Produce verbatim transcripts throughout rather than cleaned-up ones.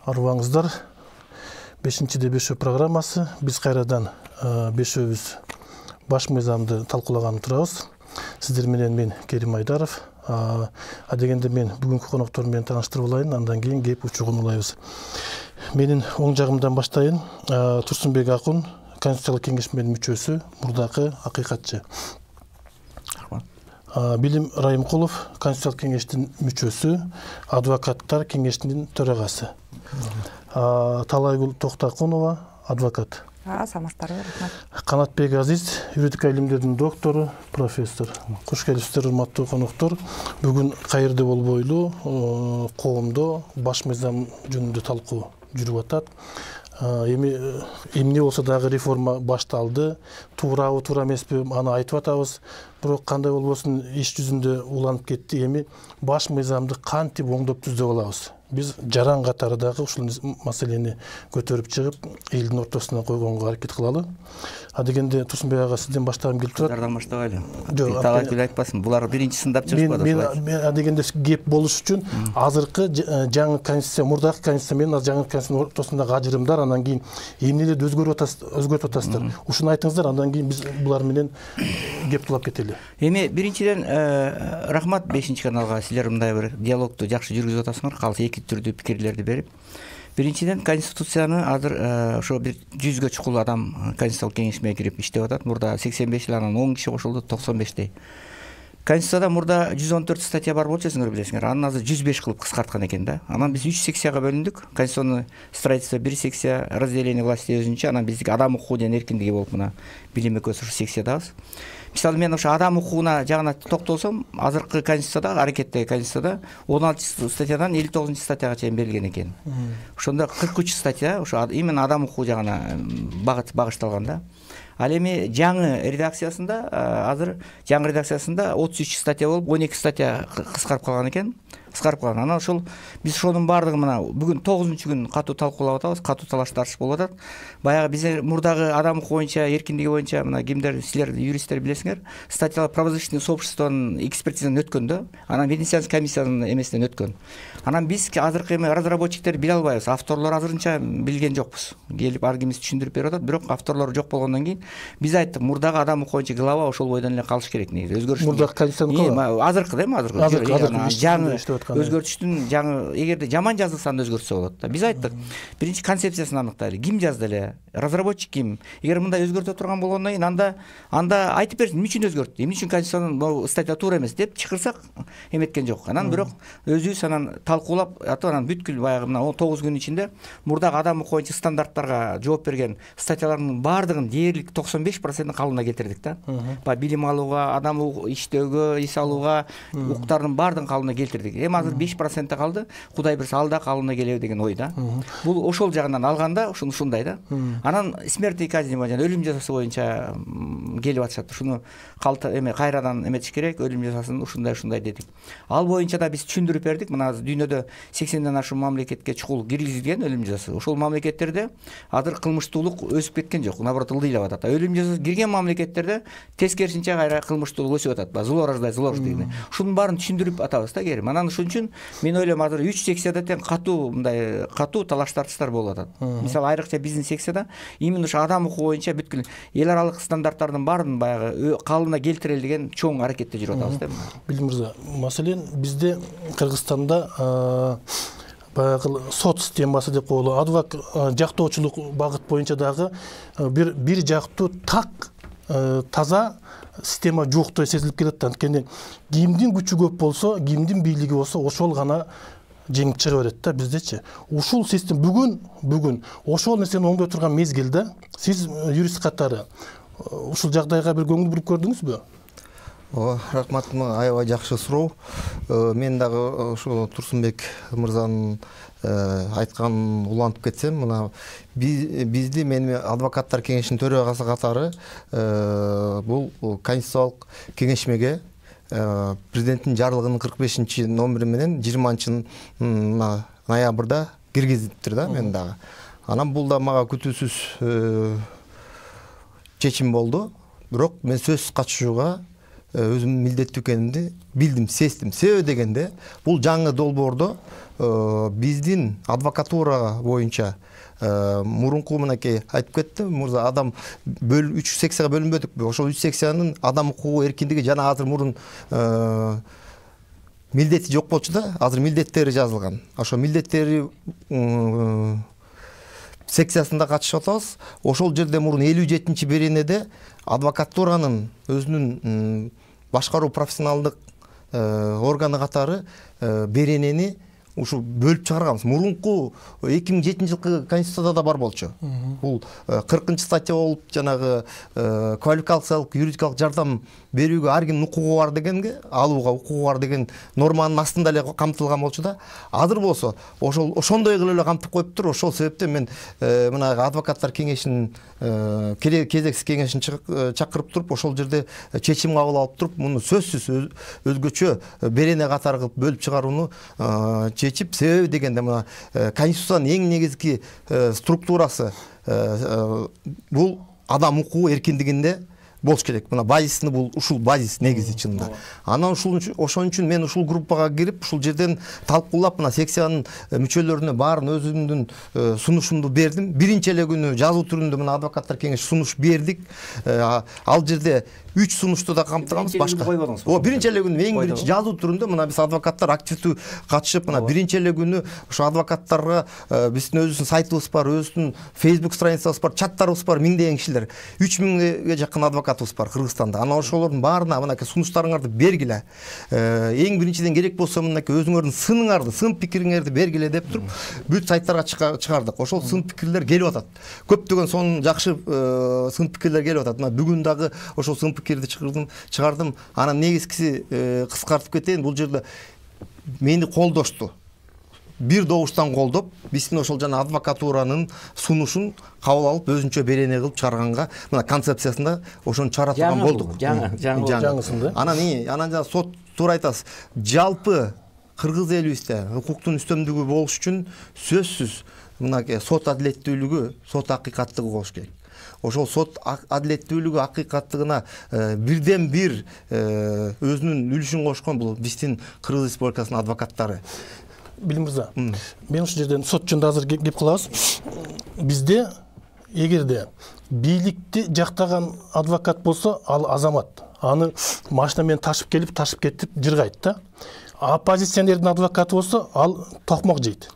Арыбаңыздар. бешинчиде бешөө программасы. Биз кайрадан бешөөбүз баш мыйзамды талкуулаганы турабыз. Сиздер менен мен Керим Айдаров. А дегенде мен бүгүнкү коноктор менен тааныштырып алайын, андан кийин кеп учугун улайбыз. Менин оң жагымдан баштайын. Турсунбек Акун, Конституциялык кеңешменин мүчөсү, мурдакы акыйкатчы. Билим Райымкулов, Конституциялык кеңештин мүчөсү, адвокаттар кеңешинин төрагасы. Талайгүл Токтакунова, адвокат. Саламаттарбы, рахмат. Канатбек Азиз, юридика илимдеринин доктору, профессор. Кош келипсиздер, урматтуу коноктор. Бүгүн кайерде болбойлу, коомдо баш мыйзам жөнүндө талкуу жүрүп атат. Эми эмне болсо дагы реформа башталды. Туурабы, туура эмеспи, аны айтып атабыз. Бирок кандай болбосун иш жүзүндө уланып кетти. Эми баш мыйзамды кантип оңдоп түзөп алабыз? Биз жаран катары дагы ушул маселени көтөрүп чыгып, элдин ортосуна койгонго аракет кылалы. А дегенде Турсунбек ага сизден баштагым келип турат. Кыздардан баштабайлы. Жок, талай айтпасын. Булар биринчи сындап чыгышпады. Мен а дегенде кеп болуш үчүн азыркы жаңы конституция, мурдакы конституция менен жаңы конституциянын ортосундагы ажырымдар, андан кийин эмнелерди өзгөртүп атасыздар. Ушуну айтыңыздар, андан кийин биз булар менен кеп кылып кетели. Эми биринчиден рахмат бешинчи каналга, силер мындай бир диалогду жакшы жүргүзүп атасыңар. Калса эки түрдүү пикирлерди берип. Биринчиден конституцияны азыр ошо бир жүзгө чукул адам конституциялык кеңешмеге кирип иштеп атат. Мурда сексен беш эл, анан он киши кошулду, токсон бештей. Конституцияда мурда жүз он төрт статья бар болчу, сиңер билесиңер. Анын азыр жүз беш кылып кыскарткан экен да. Анан биз үч секцияга бөлүндүк. Конституционный строительство бир секция, разделение власти өзүнчө, анан биздики адам укугу жана эркиндиги болуп мына билим экөөсү ушу секциядабыз. Мисалы мен ошо адам укугуна жагына токтолсом, азыркы конституцияда, аракеттеги конституцияда он алтынчы статьядан элүү тогузунчу статьяга чейин берилген экен. Ошондо кырк үч статья ошо именно адам укугу жагына багышталган да. Ал эми жаңы редакциясында, азыр жаңы редакциясында отуз үч статья болуп, он эки статья кыскарып калган экен. Кыскарып калган. Анан ошол биз ошонун баардыгын мына бүгүн тогузунчу күн катуу талкуулап атабыз, катуу талаш тартыш болуп атат. Баягы биз мурдагы адам укугу боюнча, эркиндиги боюнча мына кимдер, силер юристтер билесиңер, статьялар правозащитный сообществонун экспертизадан өткөн да, анан Венецианский комиссиянын эмесинен өткөн. Анан биз азыркы эми разработчиктер биле албайбыз, авторлор азырынча билген жокпуз. Келип ар кимиз түшүндүрүп берип атат, бирок авторлор жок болгондон кийин биз айттык, мурдагы адам укугу боюнча глава ошол бойдон эле калыш керек негизи. Өзгөрүш. Мурдагы конституциянын азыркы да эми азыркы. Жаңы өзгөртүштүн жаңы, эгерде жаман жазылса анда өзгөртсө болот да. Биз айттык, биринчи концепциясын аныктайлы. Ким жазды эле? Разработчик ким? Эгер мындай өзгөртө турган болгондон кийин анда анда айтып берсин, эмне үчүн өзгөрттү? Эмне үчүн конституциянын могу статья туура эмес деп чакырсак эметкен жок. Анан бирок өзүбүз анан талкуулап атып, анан бүткүл баягы мына он тогуз күн ичинде мурдагы адам укугу боюнча стандарттарга жооп берген статьялардын баардыгын дээрлик токсон беш процентин калыбына келтирдик да. Баягы билим алууга, адам иштөөгө, эс алууга укуктардын баардыгын калыбына келтирдик. Эми азыр беш процент калды. Кудай берсе ал да калыбына келеби деген ой да. Бул ошол жагынан алганда ушуну ушундай да. Анан смертный казнь боюнча, өлүм жазасы боюнча келип атышат. Ушуну калта эме кайрадан эметиш керек, өлүм жазасын ушундай ушундай дедик. Ал боюнча да биз түшүндүрүп бердик. Мына дүйнөдө сексенден ашуун мамлекетке чукул киргизилген өлүм жазасы. Ошол мамлекеттерде азыр кылмыштуулук өсүп кеткен жок, наоборот ылдыйлап атат. Өлүм жазасы кирген мамлекеттерде тескерисинче кайра кылмыштуулук өсүп атат. Зло рождает зло дегендей. Ушунун баарын түшүндүрүп атабыз да, Керим. Анан ушун үчүн мен ойлойм азыр үч секцияда тең катуу мындай катуу талаш тартыштар болуп атат. Мисалы айрыкча биздин секцияда именно ошо адам укугу боюнча бүткүл эл аралык стандарттардын баарын баягы калыбына келтирели деген чоң аракетте жүрүп атабыз да. Билим мырза, маселен бизде Кыргызстанда баягы сот системасы деп коелу, адвокат жактоочулук багыт боюнча дагы бир бир жактуу так таза система жоктой сезилип келет. Анткени кимдин күчү көп болсо, кимдин бийлиги болсо, ошол гана жеңип чыга берет да. Биздечи ушул система бүгүн бүгүн ошол нерсени оңдой турган мезгилде сиз юрист катары ушул жагдайга бир көңүл буруп көрдүңүзбү? Ооба, рахмат, аябай жакшы суроо. Мен дагы ушу Турсунбек мырзанын айтканын улантып кетсем, мына бизди мен адвокаттар кеңешинин төрагасы катары бул конституциялык кеңешмеге президенттин жарлыгынын кырк бешинчи номери менен жыйырманчы ноябрда киргизиптир да мен дагы. Анан бул да мага күтүүсүз чечим болду. Бирок мен сөзсүз катышууга өзүмдүн милдеттүү экенимди билдим, сездим. Себеби дегенде бул жаңы долбоордо биздин адвокатура боюнча мурунку мынакей айтып кетти мырза, адам үч секцияга бөлүнбөдүкпү? Ошол үч секциянын адам укугу эркиндиги жана азыр мурун милдети жок болчу да, азыр милдеттери жазылган. Ошо милдеттери секциясында катышып атабыз. Ошол жерде мурун элүү жетинчи беренеде адвокатуранын өзүнүн башкаруу профессионалдык органы катары беренени ушу бөлүп чыгарганбыз. Мурунку эки миң жетинчи жылкы конституцияда да бар болчу. Бул кыркынчы статья болуп, жанагы квалификациялык юридикалык жардам берүүгө ар кимдин укугу бар дегенге, алууга укугу бар деген норманын астында эле камтылган болчу да. Азыр болсо ошол ошондой кылып эле камтып коюптур. Ошол себептен мен мына адвокаттар кеңешинин кезексиз кеңешин чакырып туруп, ошол жерде чечим кабыл алып туруп, муну сөзсүз өзгөчө берене катары кылып бөлүп чыгарууну чечип, себеби дегенде мына конституциянын эң негизги структурасы бул адам укугу эркиндигинде болуш керек. Мына базисini бул ушул базис негизи чынында. Анан ушул ошон үчүн мен ушул группага кирип, ушул жерден талкуулап, мына секциянын мүчөлөрүнө баарын өзүмдүн сунушумду бердим. Биринчи эле күнү жазуу түрүндө мына адвокаттар кеңеши сунуш бердик. Ал жерде үч сунушту да камтыганбыз, башка. О, биринчи эле күнү эң биринчи жазуу түрүндө мына биз адвокаттар активдүү катышып, мына биринчи эле күнү ошо адвокаттарга биздин өзүбүздүн сайтыбыз бар, өзүбүздүн Facebook страницабыз бар, чаттарыбыз бар, миңдеген кишилер, үч миңге жакын адвокатыбыз бар Кыргызстанда. Анан ошолордун баарына мынакей сунуштарыңарды бергиле. Эң биринчиден керек болсо мынакей өзүңөрдүн сыныңарды, сын пикириңерди бергиле деп туруп, бүт сайттарга чыгардык. Ошол сын пикирлер келип атат. Көптөгөн сонун жакшы сын пикирлер келип атат. Мына бүгүн дагы ошол сын пикирди чыгардым, чыгардым. Анан негизгиси кыскартып кетейин, бул жерде мени колдошту. Бир добуштан колдоп, биздин ошол жана адвокатуранын сунушун кабыл алып, өзүнчө берене кылып чыгарганга, мына концепциясында ошону чыгаратып болдук. Жаңы, жаңы, жаңысында. Анан и, анан жана сот туура айтасыз. Жалпы кыргыз элибизде укуктун үстөмдүгү болуш үчүн сөзсүз мынакей сот адилеттүүлүгү, сот акыйкаттыгы болуш керек. Ошол сот адилеттүүлүгү, акыйкаттыгына бирден бир өзүнүн үлүшүн кошкон бул биздин Кыргыз Республикасынын адвокаттары. Билим мырза, мен ушул жерден сот жөнүндө азыр кеп кылабыз. Бизде эгерде бийликти жактаган адвокат болсо, ал азамат. Аны машина менен ташып келип, ташып кетип жыргайт да. Оппозиционердин адвокаты болсо, ал токмок жейт.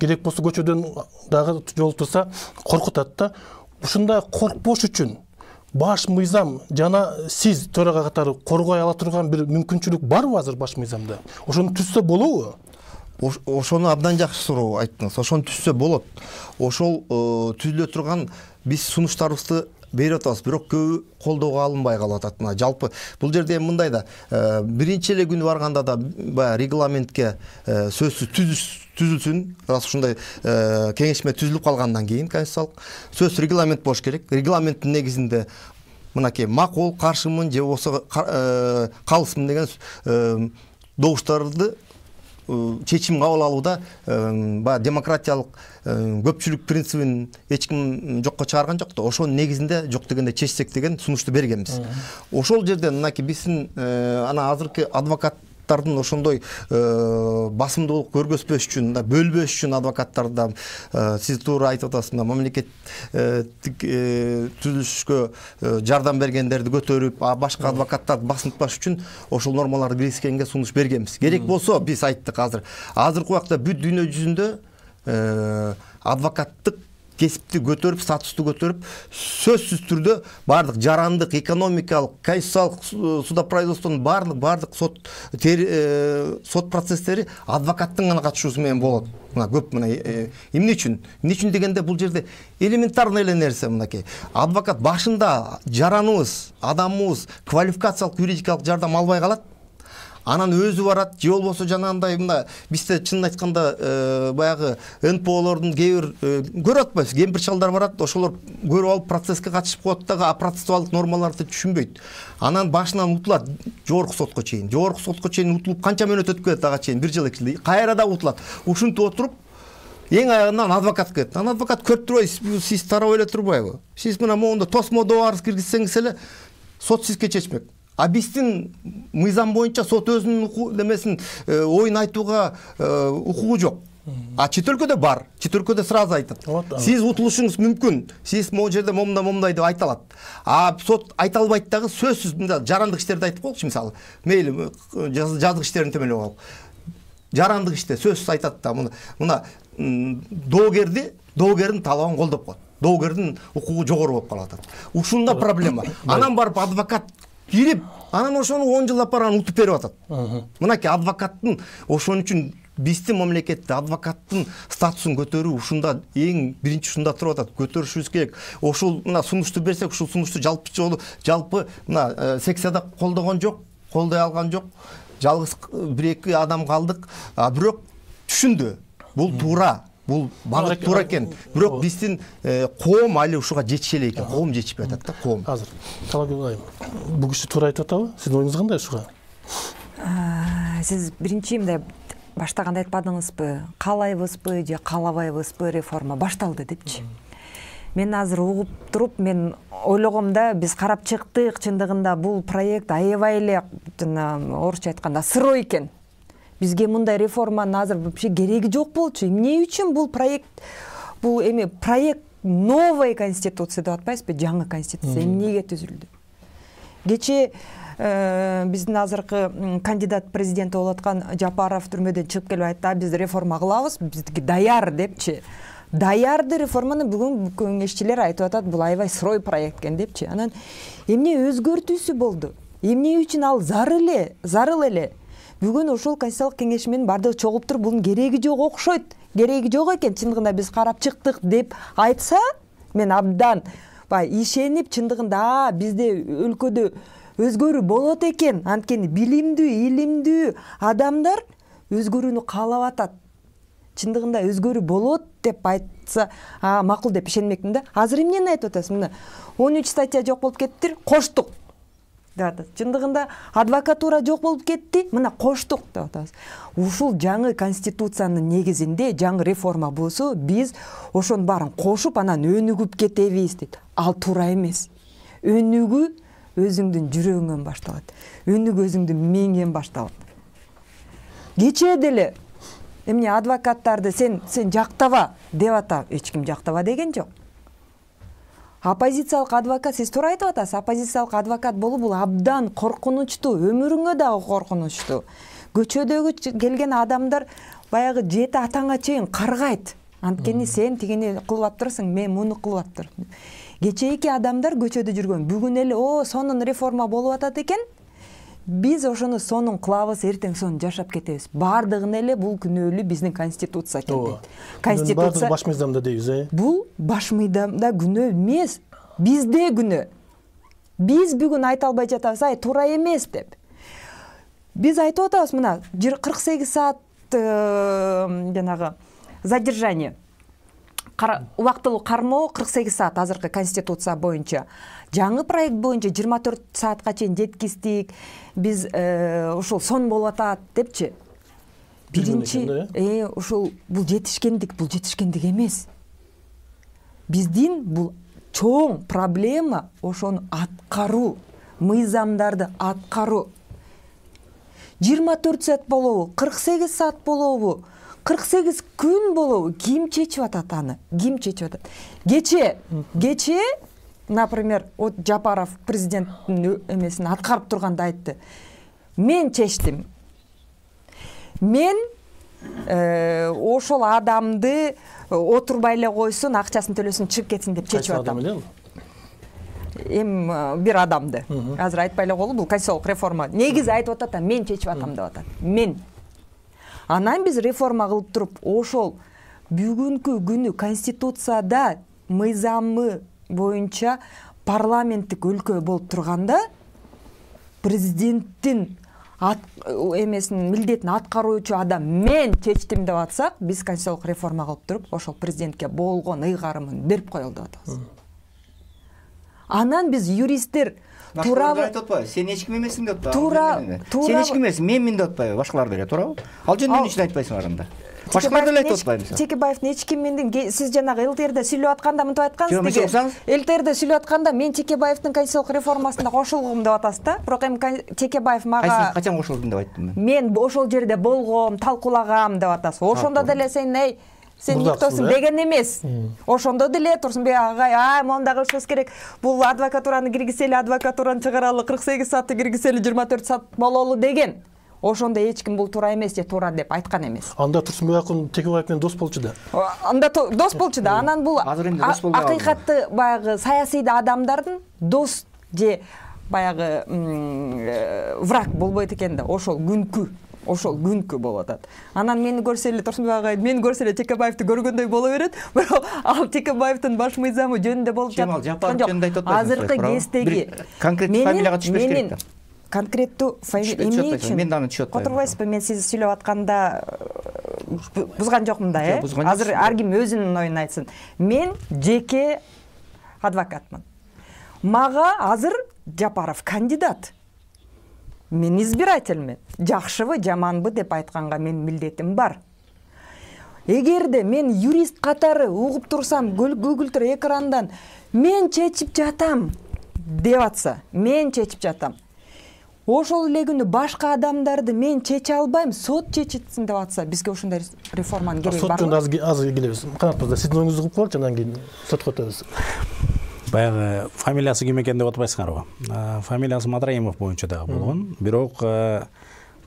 Керек болсо көчөдөн дагы жолтурса коркутат да. Ушундай коркпош үчүн баш мыйзам жана сиз төрага катары коргой ала турган бир мүмкүнчүлүк барбы азыр баш мыйзамда? Ошону түзсө болобу? Ошону абдан жакшы суроо айттыңыз. Ошону түзсө болот. Ошол түзүлө турган биз сунуштарыбызды берип атабыз, бирок көбү колдоого алынбай калып атат. Мына жалпы бул жерде эми мындай да, биринчи эле күнү барганда да баягы регламентке сөзсүз түзүлсүн, раз ушундай кеңешме түзүлүп калгандан кийин конституциялык сөз регламент болуш керек. Регламенттин негизинде мынакей макул, каршымын же болбосо калысмын деген добуштарды чечим кабыл алууда баягы демократиялык көпчүлүк принцибин эч ким жокко чыгарган жок да. Ошонун негизинде жок дегенде чечсек деген сунушту бергенбиз. Ошол жерден мынакей биздин ана азыркы адвокаттардын ошондой басымдуулук көргөзбөш үчүн, бөлбөш үчүн адвокаттарда сиз туура айтып атасыз, мамлекеттик түзүлүшкө жардам бергендерди көтөрүп, башка адвокаттарды басынтпаш үчүн ошол нормаларды киргизгенге сунуш бергенбиз. Керек болсо биз айттык азыр. Азыркы убакта бүт дүйнө жүзүндө адвокаттык кесипти көтөрүп, статусту көтөрүп, сөзсүз түрдө бардык жарандык, экономикалык, конституциялык судопроизводствонун бардык бардык сот сот процесстери адвокаттын гана катышуусу менен болот. Мына көп мына эмне үчүн? Эмне үчүн дегенде бул жерде элементарный эле нерсе мынакей. Адвокат башында жараныбыз, адамыбыз квалификациялык юридикалык жардам албай калат. Анан өзү барат, же болбосо жанагындай мына бизде чынын айтканда баягы эн пэ олордун кээ бир көрүп атпайбыз, кемпир чалдар барат, ошолор көрүп алып процесске катышып коет дагы, процессуалдык нормаларды түшүнбөйт. Анан башынан утулат жогорку сотко чейин. Жогорку сотко чейин утулуп канча мөөнөт өтүп кетет ага чейин, бир жыл эки жыл. Кайра да утулат. Ушинтип отуруп эң аягынан адвокат келет. Анан адвокат көрүп турбайбы, сиз тарап эле турбайбы? Сиз мына моунда тосмо добарыңызды киргизсеңиз эле сот сизге чечмек. А биздин мыйзам боюнча сот өзүнүн немесин оюн айтууга укугу жок. А чет өлкөдө бар. Чет өлкөдө сразу айтат. Сиз утулушуңуз мүмкүн. Сиз могу жерде момундай момундай деп айта алат. А сот айта албайт дагы сөзсүз мында жарандык иштерди айтып коелучу мисалы. Мейли жаздык иштерин темелеп алып. Жарандык иште сөзсүз айтат да мына мына доогерди, доогердин талабын колдоп коет. Доогердин укугу жогору болуп калып атат. Ушунда проблема. Анан барып адвокат кирип, анан ошону он жылдап барып анан утуп берип атат. Мынакей адвокаттын ошон үчүн биздин мамлекетте адвокаттын статусун көтөрүү ушунда эң биринчи ушунда туруп атат. Көтөрүшүбүз керек. Ошол мына сунушту берсек, ушул сунушту жалпы жолу жалпы мына секцияда колдогон жок, колдой алган жок. Жалгыз бир-эки адам калдык. А бирок түшүндү. Бул туура. Бул багыт туура экен. Бирок биздин коом али ушуга жетише элек экен. Коом жетишпей атат да, коом. Азыр Талагүл айым. Бул киши туура айтып атабы? Сиздин оюңуз кандай ушуга? Сиз биринчи мындай баштаганда айтпадыңызбы, каалайбызбы же каалабайбызбы реформа башталды депчи. Мен азыр угуп туруп, мен ойлогомда биз карап чыктык, чындыгында бул проект аябай эле жана орусча айтканда сырой экен. Бизге мындай реформанын азыр вообще кереги жок болчу. Эмне үчүн бул проект, бул эми проект новой конституция деп атпайсызбы, жаңы конституция эмнеге түзүлдү? Кече биздин азыркы кандидат президент болуп аткан Жапаров түрмөдөн чыгып келип айтты, биз реформа кылабыз, биздики даяр депчи. Даярды реформаны бүгүн кеңешчилер айтып атат, бул аябай сырой проект экен депчи. Анан эмне өзгөртүүсү болду? Эмне үчүн ал зарыл эле, зарыл эле? Бүгүн ошол Конституциялык кеңеш менен бардыгы чогулуп туруп, бунун кереги жок окшойт. Кереги жок экен, чындыгында биз карап чыктык деп айтса, мен абдан бай ишенип, чындыгында бизде өлкөдө өзгөрүү болот экен. Анткени билимдүү, илимдүү адамдар өзгөрүүнү каалап атат. Чындыгында өзгөрүү болот деп айтса, макул деп ишенмекмин да. Азыр эмнени айтып атасыз? Мына он үч статья жок болуп кеттир, коштук деп атат. Чындыгында адвокатура жок болуп кетти, мына коштук деп атабыз. Ушул жаңы конституциянын негизинде жаңы реформа болсо, биз ошонун баарын кошуп, анан өнүгүп кетебиз дейт. Ал туура эмес. Өнүгүү өзүңдүн жүрөгүңөн башталат. Өнүгүү өзүңдүн миңден башталат. Кечээ деле эмне адвокаттарды сен сен жактаба деп атат. Эч ким жактаба деген жок. Оппозициялык адвокат, сиз туура айтып атасыз, оппозициялык адвокат болуу бул абдан коркунучтуу, өмүрүңө дагы коркунучтуу. Көчөдөгү келген адамдар баягы жети атаңа чейин каргайт. Анткени сен тигини кылып аптырсың, мен муну кылып аптырдым. Кечээки адамдар көчөдө жүргөн. Бүгүн эле о сонун реформа болуп атат экен. Биз ошону сонун кылабыз, эртең сонун жашап кетебиз. Бардыгын эле бул күнөөлүү биздин конституция экен. Конституция баш мыйзамда дейбиз, э? Бул баш мыйзамда күнөө эмес, бизде күнөө. Биз бүгүн айта албай жатабыз, ай туура эмес деп. Биз айтып атабыз, мына кырк сегиз саат жанагы задержание, убактылуу кармоо кырк сегиз саат азыркы конституция боюнча. Жаңы проект боюнча жыйырма төрт саатка чейин жеткиздик. Биз ошол сон болуп атат депчи. Биринчи э ошол бул жетишкендик, бул жетишкендик эмес. Биздин бул чоң проблема ошону аткаруу, мыйзамдарды аткаруу. жыйырма төрт саат болобу, кырк сегиз саат болобу, кырк сегиз күн болобу, ким чечип атат аны? Ким чечип атат? Кече, кече, например, от Жапаров президенттин эмесин аткарып турганда айтты. Мен чечтим. Мен ошол адамды отурбай эле койсун, акчасын төлөсүн, чыгып кетсин деп чечип атам. Эм бир адамды. Азыр айтпай эле коелу, бул конституциялык реформа. Негизи айтып атат, мен чечип атам деп атат. Мен. Анан биз реформа кылып туруп, ошол бүгүнкү күнү конституцияда мыйзамы боюнча парламенттик өлкө болуп турганда президенттин эмесин милдетин аткаруучу адам мен чечтим деп атсак, биз конституциялык реформа кылып туруп, ошол президентке болгон ыйгарымын берип коелу деп атабыз. Анан биз юристтер туурабы айтып атпайбы? Сен эч ким эмесиң деп атпайбы? Туура, туура. Сен эч ким эмесиң, менмин деп атпайбы? Башкалар деле туурабы? Ал жөнүндө эмне үчүн айтпайсыңар анда? башкалар деле айтып атпайбы? Чекебаевдин эч ким менден сиз жанагы ЛТРде сүйлөп атканда мынтип айткансыз деги. ЛТРде сүйлөп атканда мен Чекебаевдин конституциялык реформасына кошулгум деп атасыз да. Бирок эми Чекебаев мага качан кошулдум деп айттым мен. Мен ошол жерде болгом, талкуулагам деп атасыз. Ошондо деле сен эй сен никтосуң деген эмес. Ошондо деле Турсунбек агай, а моундай кылышыбыз керек. Бул адвокатураны киргизели, адвокатураны чыгаралы, кырк сегиз саатты киргизели, жыйырма төрт саат бололу деген. Ошондо эч ким бул туура эмес же туура деп айткан эмес. Анда Турсунбек акын Чекебаев менен дос болчу да. Анда дос болчу да. Анан бул акыйкатты баягы саясий адамдардын дос же баягы враг болбойт экен да. Ошол күнкү ошол күнкү болуп атат. Анан мени көрсө эле Турсунбек агай, мени көрсө эле Чекебаевди көргөндөй боло берет. Бирок ал Чекебаевдин баш мыйзамы жөнүндө болуп жатат. Азыркы кездеги конкреттүү фамилияга түшпөш керек да. Конкреттүү фамилия эмне үчүн? Мен даны түшүп атпайм. Отурбайсызбы? Мен сиз сүйлөп атканда бузган жокмун да, э? Азыр ар ким өзүнүн оюн айтсын. Мен жеке адвокатмын. Мага азыр Жапаров кандидат. Мен избирательмин. Жакшыбы, жаманбы деп айтканга мен милдетим бар. Эгерде мен юрист катары угуп турсам, көгүлтүр экрандан мен чечип жатам деп атса, мен чечип жатам. Ошол эле күнү башка адамдарды мен чече албайм, сот чечитсин деп атса, бизге ошондой реформанын кереги барбы? Сот жөнүндө аз келебиз. Канат мырза, сиздин оюңузду угуп коелучу, андан кийин сотко өтөбүз. Баягы фамилиясы ким экен деп атпайсыңарбы? Фамилиясы Матраимов боюнча дагы болгон. Бирок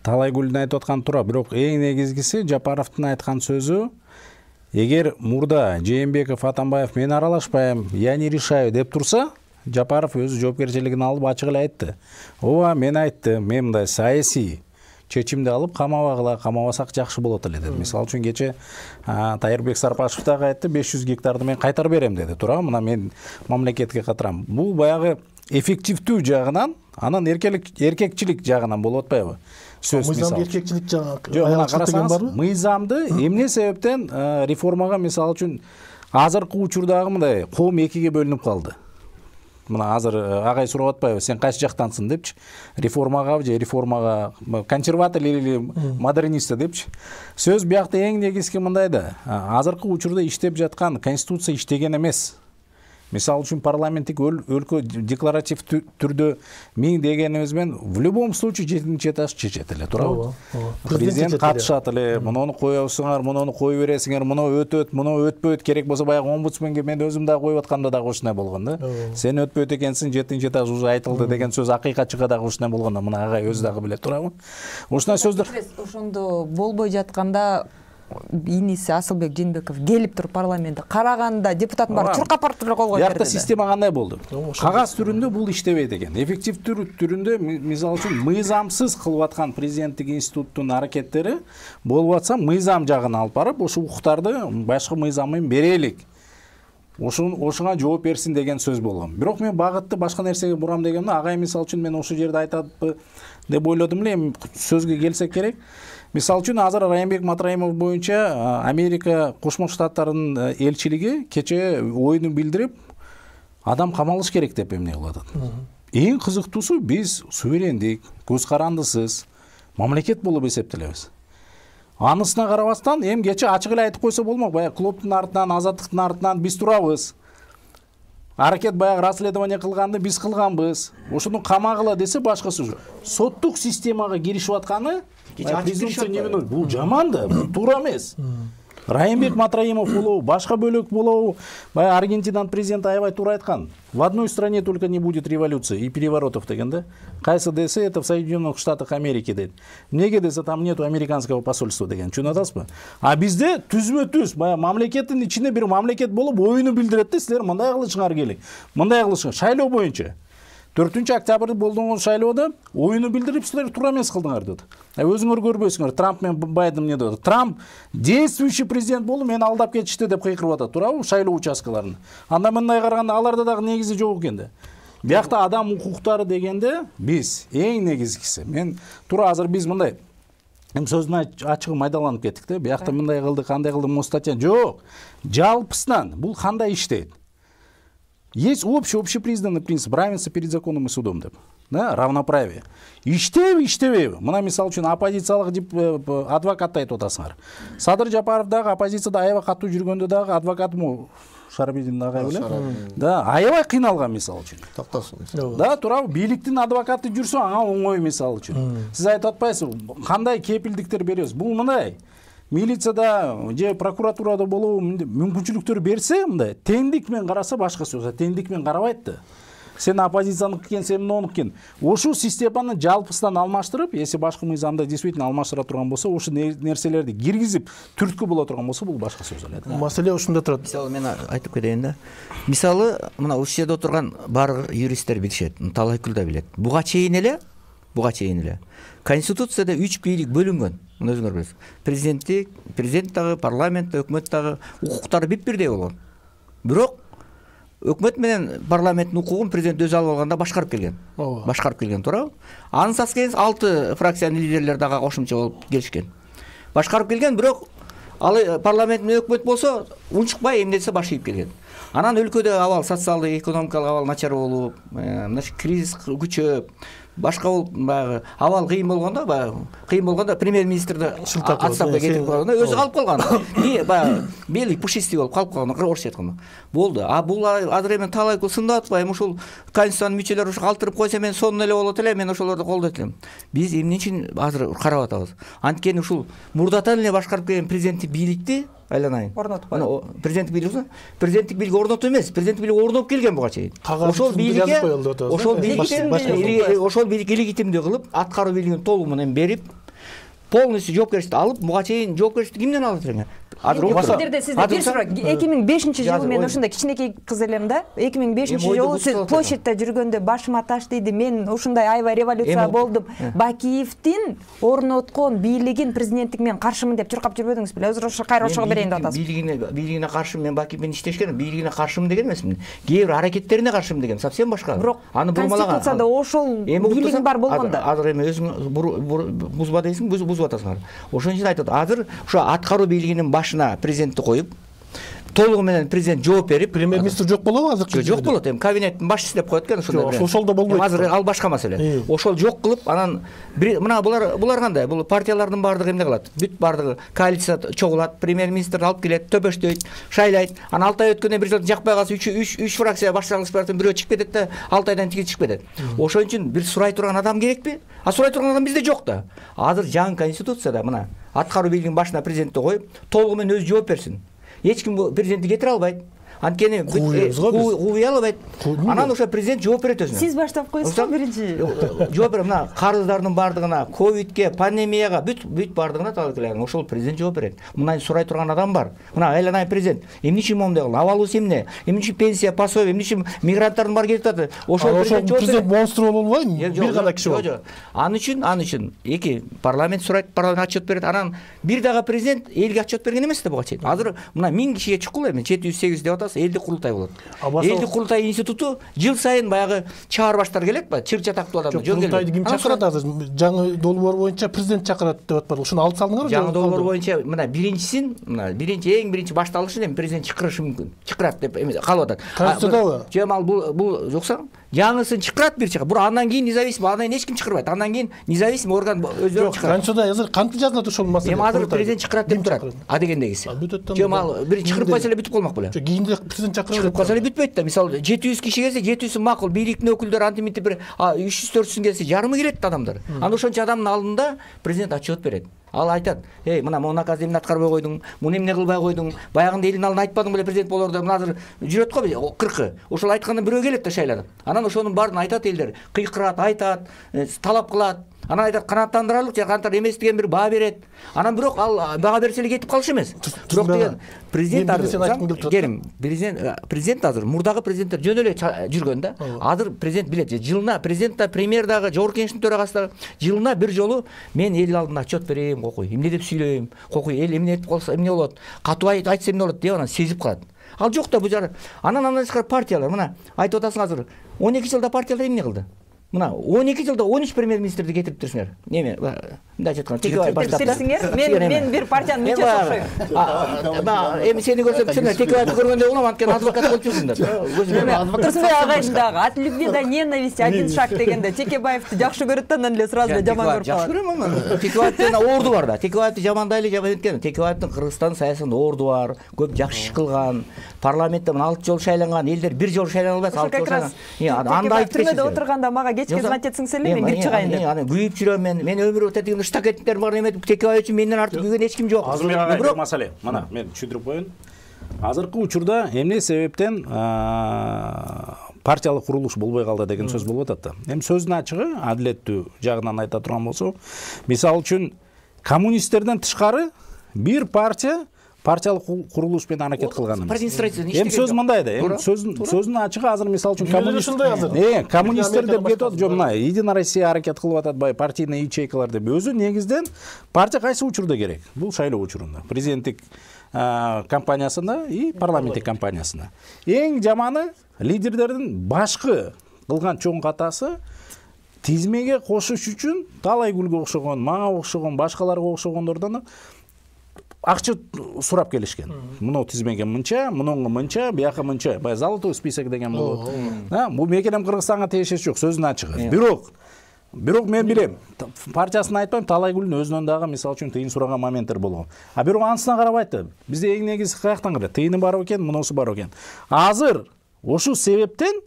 Талайгүлдүн айтып атканы туура, бирок эң негизгиси Жапаровдун айткан сөзү, эгер мурда Жээнбеков, Атамбаев мен аралашпайм, я не решаю деп турса, Жапаров өзү жоопкерчилигин алып ачык эле айтты. Ооба, мен айттым, мен мындай саясий чечимди алып камабагыла, камабасак жакшы болот эле деди. Мисалы үчүн кече Тайырбек Сарпашев дагы айтты, беш жүз гектарды мен кайтарып берем деди. Туура, мына мен мамлекетке катырам. Бул баягы эффективдүү жагынан, анан эркекчилик жагынан болуп атпайбы? Сөз мыйзамды эркекчилик жагы карасаңыз, мыйзамды эмне себептен реформага мисалы үчүн азыркы учурдагы мындай коом экиге бөлүнүп калды. Мына азыр агай сурап атпайбы, сен кайсы жактансың депчи, реформага же реформага консерватор или модернист депчи. Сөз биякта эң негизги мындай да, азыркы учурда иштеп жаткан конституция иштеген эмес. Мисалы үчүн парламенттик өлкө декларатив түрдө миң дегенибиз менен в любом случае жетинчи этаж чечет эле, туурабы? Президент катышат эле, муну коесуңар, муну кое бересиңер, муну өтөт, муну өтпөйт, керек болсо баягы омбудсменге мен өзүм дагы коюп атканда дагы ушундай болгон да. Сен өтпөйт экенсиң, жетинчи этаж уже айтылды деген сөз акыйкатчыга дагы ушундай болгон да, мына агай өзү дагы билет, туурабы? Ушундай сөздөр ошондо болбой жатканда иниси Асылбек Жээнбеков келип туруп парламентте караганда депутаттын баары чуркап барып эле кол коюп берди. Биякта система кандай болду? Кагаз түрүндө бул иштебейт экен. Эффектив түрүндө мисалы үчүн мыйзамсыз кылып аткан президенттик институттун аракеттери болуп атса, мыйзам жагына алып барып, ошо укуктарды башкы мыйзам менен берелик. Ошон ошоңа жооп берсин деген сөз болгон. Бирок мен багытты башка нерсеге бурам дегенде, агай мисалы үчүн мен ошол жерде айтатпы деп ойлодум эле, эми сөзгө келсек керек. Мисалы үчүн азыр Райымбек Матраимов боюнча Америка Кошмо Штаттарынын элчилиги кече оюн билдирип, адам камалыш керек деп эмне кылып атат. Эң кызыктуусу, биз суверендик, көз карандысыз мамлекет болуп эсептелебиз. Анысына карабастан, эми кече ачык эле айтып койсо болмок, баягы клубтун артынан, азаттыктын артынан биз турабыз. Аракет баягы расследование кылганды биз кылганбыз. Ошону камагыла десе башкасы. Соттук системага киришип атканы бул жаман да, бул туура эмес. Райымбек Матраимов болобу, башка бөлөк болобу, баягы Аргентинаның президенти аябай туура айткан. В одной стране только не будет революции и переворотов деген да. Кайсы десе, это в Соединенных Штатах Америки дейт. Эмнеге десе, там нету американского посольства деген. Чүнө атасызбы? А бизде түзмө-түз баягы мамлекеттин ичинде бир мамлекет болуп оюну билдирет да, силер мындай кылышыңар керек. Мындай кылышыңар. Шайлоо боюнча төртүнчү октябрда болгон шайлоодо оюну билдирип, силер туура эмес кылдыңар dedi. Өзүңөр көрбөйсүңөр, Трамп менен Байден эмне dedi. Трамп действующий президент болуп, мени алдап кетишти деп кыйкырып атат, туурабы, шайлоо участкаларында. Анда мындай караганда аларда дагы негизи жок экен да. Биякта адам укуктары дегенде биз эң негизгиси. Мен туура азыр биз мындай эми сөздүн ачыгы майдаланып кеттик да. Биякта мындай кылды, кандай кылды, могу статья жок. Жалпысынан бул кандай иштейт? Есть общий, общепризнанный принцип равенства перед законом и судом деп. да, равноправие. Иштеби, иштебеби? Мына мисалы үчүн оппозициялык адвокатты айтып атасыңар. Садыр Жапаров дагы оппозицияда аябай катуу жүргөндө дагы адвокатмы Шарабидин агай беле? Да, аябай кыйналган мисалы үчүн. Токтосун. Да, туурабы, бийликтин адвокаты жүрсө ага оңой мисалы үчүн. Сиз айтып атпайсызбы, кандай кепилдиктер беребиз? Бул мындай. Милицияда же прокуратурада болобу мүмкүнчүлүктөр берсе, мындай теңдик менен караса башка сөз. Теңдик менен карабайт да. Сен оппозицияныкы экен, сен монуку экен. Ошол системаны жалпысынан алмаштырып, если башкы мыйзамда действительно алмаштыра турган болсо, ошол нерселерди киргизип түрткү боло турган болсо, бул башка сөз эле. Маселе ушунда турат. Мисалы мен айтып кетейин да. Мисалы, мына ушул жерде отурган баардык юристтер билишет, Талайкүл да билет. Буга чейин эле, буга чейин эле Конституцияда үч бийлик бөлүнгөн. Муну өзүңөр билесиз. Президенттик, президент дагы, парламент, өкмөт дагы укуктары бип-бирдей болгон. Бирок өкмөт менен парламенттин укугун президент өзү алып алганда башкарып келген. Башкарып келген, туурабы? Анын саскенин алты фракциянын лидерлери дагы кошумча болуп келишкен. Башкарып келген, бирок ал парламент менен өкмөт болсо унчукпай эмнесе баш ийип келген. Анан өлкөдө абал, социалдык, экономикалык абал начар болуп, мына кризис күчөп, башка болуп, баягы абал кыйын болгондо, баягы кыйын болгондо премьер-министрди отставкага кетип калганда өзү калып калган. И баягы белый пушистый болуп калып калган, орусча айтканда. Болду. А бул азыр эми Талайкүл сындап атпайбы? Ушул конституциянын мүчөлөрү ушу калтырып койсо мен сонун эле болот эле, мен ошолорду колдойт элем. Биз эмне үчүн азыр карап атабыз? Анткени ушул мурдатан эле башкарып келген президенттик бийликти айланайын. Орнотпой. Президенттик бийлик, президенттик бийлик орнотуу эмес, президенттик бийлик орноп келген буга чейин. Ошол бийликке, ошол бийликке, ошол бийлик илегитимдүү кылып, аткаруу бийлигин толугу менен берип, полностью жоопкерчиликти алып, буга чейин жоопкерчиликти кимден алат элең? Сиздерде сизде бир суроо. эки миң бешинчи жылы мен ушундай кичинекей кыз элем да. эки миң бешинчи жылы сиз площадьта жүргөндө башыма таш тийди. Мен ушундай аябай революция болдум. Бакиевдин орноткон бийлигин президенттик менен каршымын деп чуркап жүрбөдүңүз беле? Өзү ошо кайра ошого берейин деп атасыз. Бийлигине, бийлигине каршы мен Бакиев менен иштешкен, бийлигине каршымын деген эмесмин. Кээ бир аракеттерине каршымын деген, совсем башка. Бирок аны бурмалаган. Конституцияда ошол бийлик бар болгондо. Азыр эми өзүң бузба дейсиң, бузуп атасыңар. Ошон үчүн айтат, азыр ошо аткаруу бийлигинин башына президентти коюп, толугу менен президент жооп берип, премьер-министр жок болобу азыр? Жок болот, эми кабинеттин башчысы деп коет экен ошондой. Ошол да болбойт. Азыр ал башка маселе. Ошол жок кылып, анан мына булар булар кандай? Бул партиялардын баардыгы эмне кылат? Бүт баардыгы коалиция чогулат, премьер-министр алып келет, төбөштөйт, шайлайт. Анан алты ай өткөндөн бир жакпай калса үч үч фракция башчылык партиядан бирөө чыгып кетет да, алты айдан кийин чыгып кетет. Ошон үчүн бир сурай турган адам керекпи? А сурай турган адам бизде жок да. Азыр жаңы конституцияда мына аткаруу бийлигинин башына президентти коюп, толугу менен өзү жооп берсин. Эч ким президентти кетире албайт. Анткени кууй албайт. Анан ошо президент жооп берет өзүнө. Сиз баштап коесузбу биринчи? Жооп берет. Мына карыздардын баардыгына, ковидке, пандемияга, бүт бүт баардыгына талакларын ошол президент жооп берет. Мына сурай турган адам бар. Мына айланай президент. Эмне үчүн моундай кылды? Абалыбыз эмне? Эмне үчүн пенсия, пособие, эмне үчүн мигранттардын баары кетип атат? Ошол президент монстр болуп албайбы? Бир гана киши болуп. Жок, аны үчүн, аны үчүн эки парламент сурайт, парламент отчет берет. Анан бир дагы президент элге отчет берген эмес да буга чейин. Азыр мына миң кишиге чукул эми жети жүз сегиз деп атасыз, элдик курултай болот. Элдик курултай институту жыл сайын баягы чаар баштар келет ба? Чыр чатактуу адам жөн келет. Курултайды ким чакырат азыр? Жаңы долбоор боюнча президент чакырат деп атпады. Ушуну алып салдыңарбы? Жаңы долбоор боюнча мына биринчисин, мына биринчи эң биринчи башталышын эми президент чакырышы мүмкүн. Чакырат деп калып атат. Конституциядабы? Жамал бул бул жокса, жаңысын чакырат бир чакыр. Бура андан кийин независимый, андан эч ким чакырбайт. Андан кийин независимый орган өзү чакырат. Конституцияда азыр кантип жазылат ошол маселе? Эми азыр президент чакырат деп турат. А дегендегиси. Жамал бир чакырып койсо эле бүтүп калмак беле. Кийинде президент чакырып чакырып койсо эле бүтпөйт да. Мисалы жети жүз киши келсе, жети жүзү макул, бийликтин өкүлдөрү антиминтип бир үч жүз төрт жүз келсе, жарымы келет адамдар. Анда ошончо адамдын алдында президент отчет берет. Ал айтат: "Эй, мына муну наказды эмне аткарбай койдуң? Муну эмне кылбай койдуң? Баягында элдин алдына айтпадың беле президент болорду?" Мына азыр жүрөт го кыркы. Ошол айткандан бирөө келет да шайланып. Анан ошонун баарын айтат элдер. Кыйкырат, айтат, талап кылат. Анан айтат канааттандырарлык же канааттар эмес деген бир баа берет. Анан бирок ал бага берсе эле кетип калышы эмес. Бирок деген президент азыр келим, президент президент азыр мурдагы президенттер жөн эле жүргөн да. Азыр президент билет, жылына президент да, премьер дагы, жогорку кеңештин төрагасы дагы жылына бир жолу мен эл алдында отчет берейин, кокуй, эмне деп сүйлөйм, кокуй, эл эмне этип калса эмне болот, катуу айтса эмне болот деп анан сезип калат. Ал жок да бул жары. Анан андан тышкары партиялар, мына айтып атасың азыр он эки жылда партиялар эмне кылды? мына он эки жылда он үч премьер-министрди кетириптирсиңер. Неме? Мындай айтканда Текебаев баштап. Мен мен бир партиянын мүчөсү окшойм. Эми сени көрсөм түсүнөм. Текебаевди көргөндө болом, анткени адвокат болуп жүрсүңдөр. Турсунбек агайдын дагы от любви до ненависти один шаг дегенде Текебаевди жакшы көрөт да анан эле сразу эле жаман көрүп калат. Жакшы көрөм. Текебаевдин орду бар да. Текебаевди жамандайлы жаман эткем. Текебаевдин Кыргызстан саясатында орду бар, көп жакшы иш кылган, парламентте алты жолу шайланган, элдер бир жолу шайлана албайт, алты жолу шайланган. Анда айтып түрмөдө отурганда мага кечке звонить этсиңерби, мен бир чыгайын деп. Анан күйүп жүрөм мен. Мен өмүр өтө дегенде штакеттер бар эме Текебаев үчүн менден артык күйгөн эч ким жок. Азыр бир маселе. Мына мен түшүндүрүп коеюн. Азыркы учурда эмне себептен партиялык курулуш болбой калды деген сөз болуп атат да. Эми сөздүн ачыгы, адилеттүү жагынан айта турган болсок, мисалы үчүн коммунисттерден тышкары бир партия партиялык курулуш менен аракет кылган эмес. Эми сөз мындай да, эми сөздүн сөздүн ачыгы азыр мисалы үчүн коммунист э коммунисттер деп кетип атат, жок мына Единая Россия аракет кылып атат, бай партийный ячейкалар деп. Өзү негизден партия кайсы учурда керек? Бул шайлоо учурунда. Президенттик кампаниясында и парламенттик кампаниясында. Эң жаманы лидерлердин башкы кылган чоң катасы тизмеге кошуш үчүн Талайгүлгө окшогон, мага окшогон, башкаларга окшогондордон акча сурап келишкен. Мына тизмеге мынча, мунуңга мынча, бияка мынча. Бай золотой список деген болот. Да, бул мекенем Кыргызстанга тиешеси жок, сөздүн ачыгы. Бирок Бирок мен билем, партиясын айтпайм, Талайгүлдүн өзүнөн дагы мисалы үчүн тыйын сураган моменттер болгон. А бирок анысына карабайт да. Бизде эң негизи каяктан келет? Тыйыны бар экен, мунусу бар экен. Азыр ошол себептен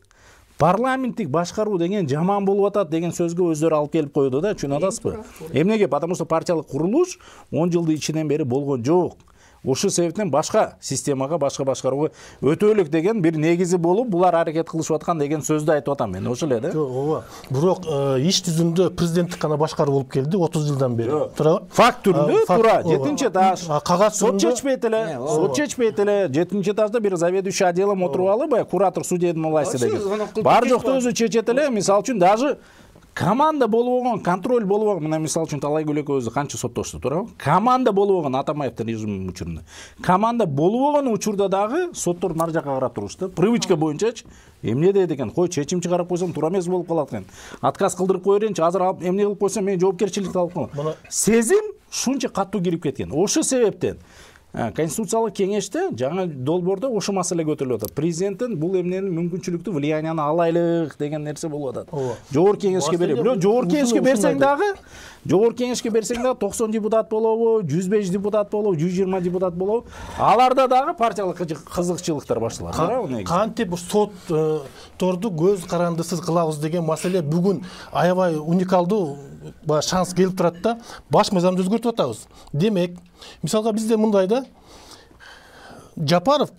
парламенттик башкаруу деген жаман болуп атат деген сөзгө өздөрү алып келип койду да, чын атасызбы? Эмнеге? Потому что партиялык курулуш он жылдын ичинен бери болгон жок. Ошол себептен башка системага, башка башкарууга өтөлүк деген бир негизи болуп, булар аракет кылышып аткан деген сөздү айтып атам мен. Ошол эле да. Ооба. Бирок иш жүзүндө президенттик гана башкаруу болуп келди отуз жылдан бери. Туура. Факт түрүндө туура. жетинчи этаж. Кагаз сот чечпейт эле. Сот чечпейт эле. жетинчи этажда бир заведующий отделом отуруп алып, бай куратор судебной власти деген. Бар жокту өзү чечет эле. Мисалы үчүн даже команда болуп болгон, контроль болуп болгон, мына мисалы үчүн Талайгүл экөөбүз канча соттошту, туурабы? Команда болуп болгон Атамаевдин режиминин учурунда. Команда болуп болгон учурда дагы соттор нар жакка карап турушты. Привычка боюнчачы эмне дейт экен? Кой, чечим чыгарып койсом туура эмес болуп калат экен. Отказ кылдырып кое берейинчи, азыр алып эмне кылып койсом мен жоопкерчиликти алып коем. Сезим шунча каттуу кирип кеткен. Ошол себептен Конституциялык кеңеште жаңа долбоордо ошол маселе көтөрүлүп атат. Президенттин бул эмнени мүмкүнчүлүктү, влиянияны алайлык деген нерсе болуп атат. Жогорку кеңешке берип, бирок жогорку кеңешке берсең дагы, жогорку кеңешке берсең дагы токсон депутат болобу, жүз беш депутат болобу, жүз жыйырма депутат болобу, аларда дагы партиялык кызыкчылыктар башталат. Кантип сотторду көз карандысыз кылабыз деген маселе бүгүн аябай уникалдуу шанс келип турат да, баш мыйзамды өзгөртүп атабыз. Демек, мисалга бизде мындай да, Жапаров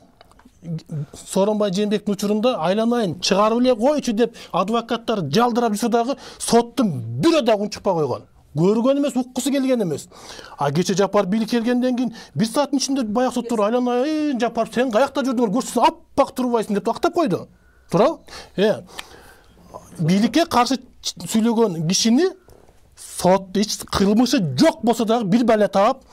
Сооронбай Жээнбековдун учурунда айланайын чыгарып эле койчу деп адвокаттар жалдырап жүрсө дагы соттун бирөө дагы унчукпай койгон. Көргөн эмес, уккусу келген эмес. А кече Жапар бийликке келгенден кийин бир сааттын ичинде баягы соттор айланайын Жапар сен каякта жүрдүң, көрсөң аппак турбайсың деп актап койду. Туурабы? Э. Бийликке каршы сүйлөгөн кишини сот эч кылмышы жок болсо дагы бир бала таап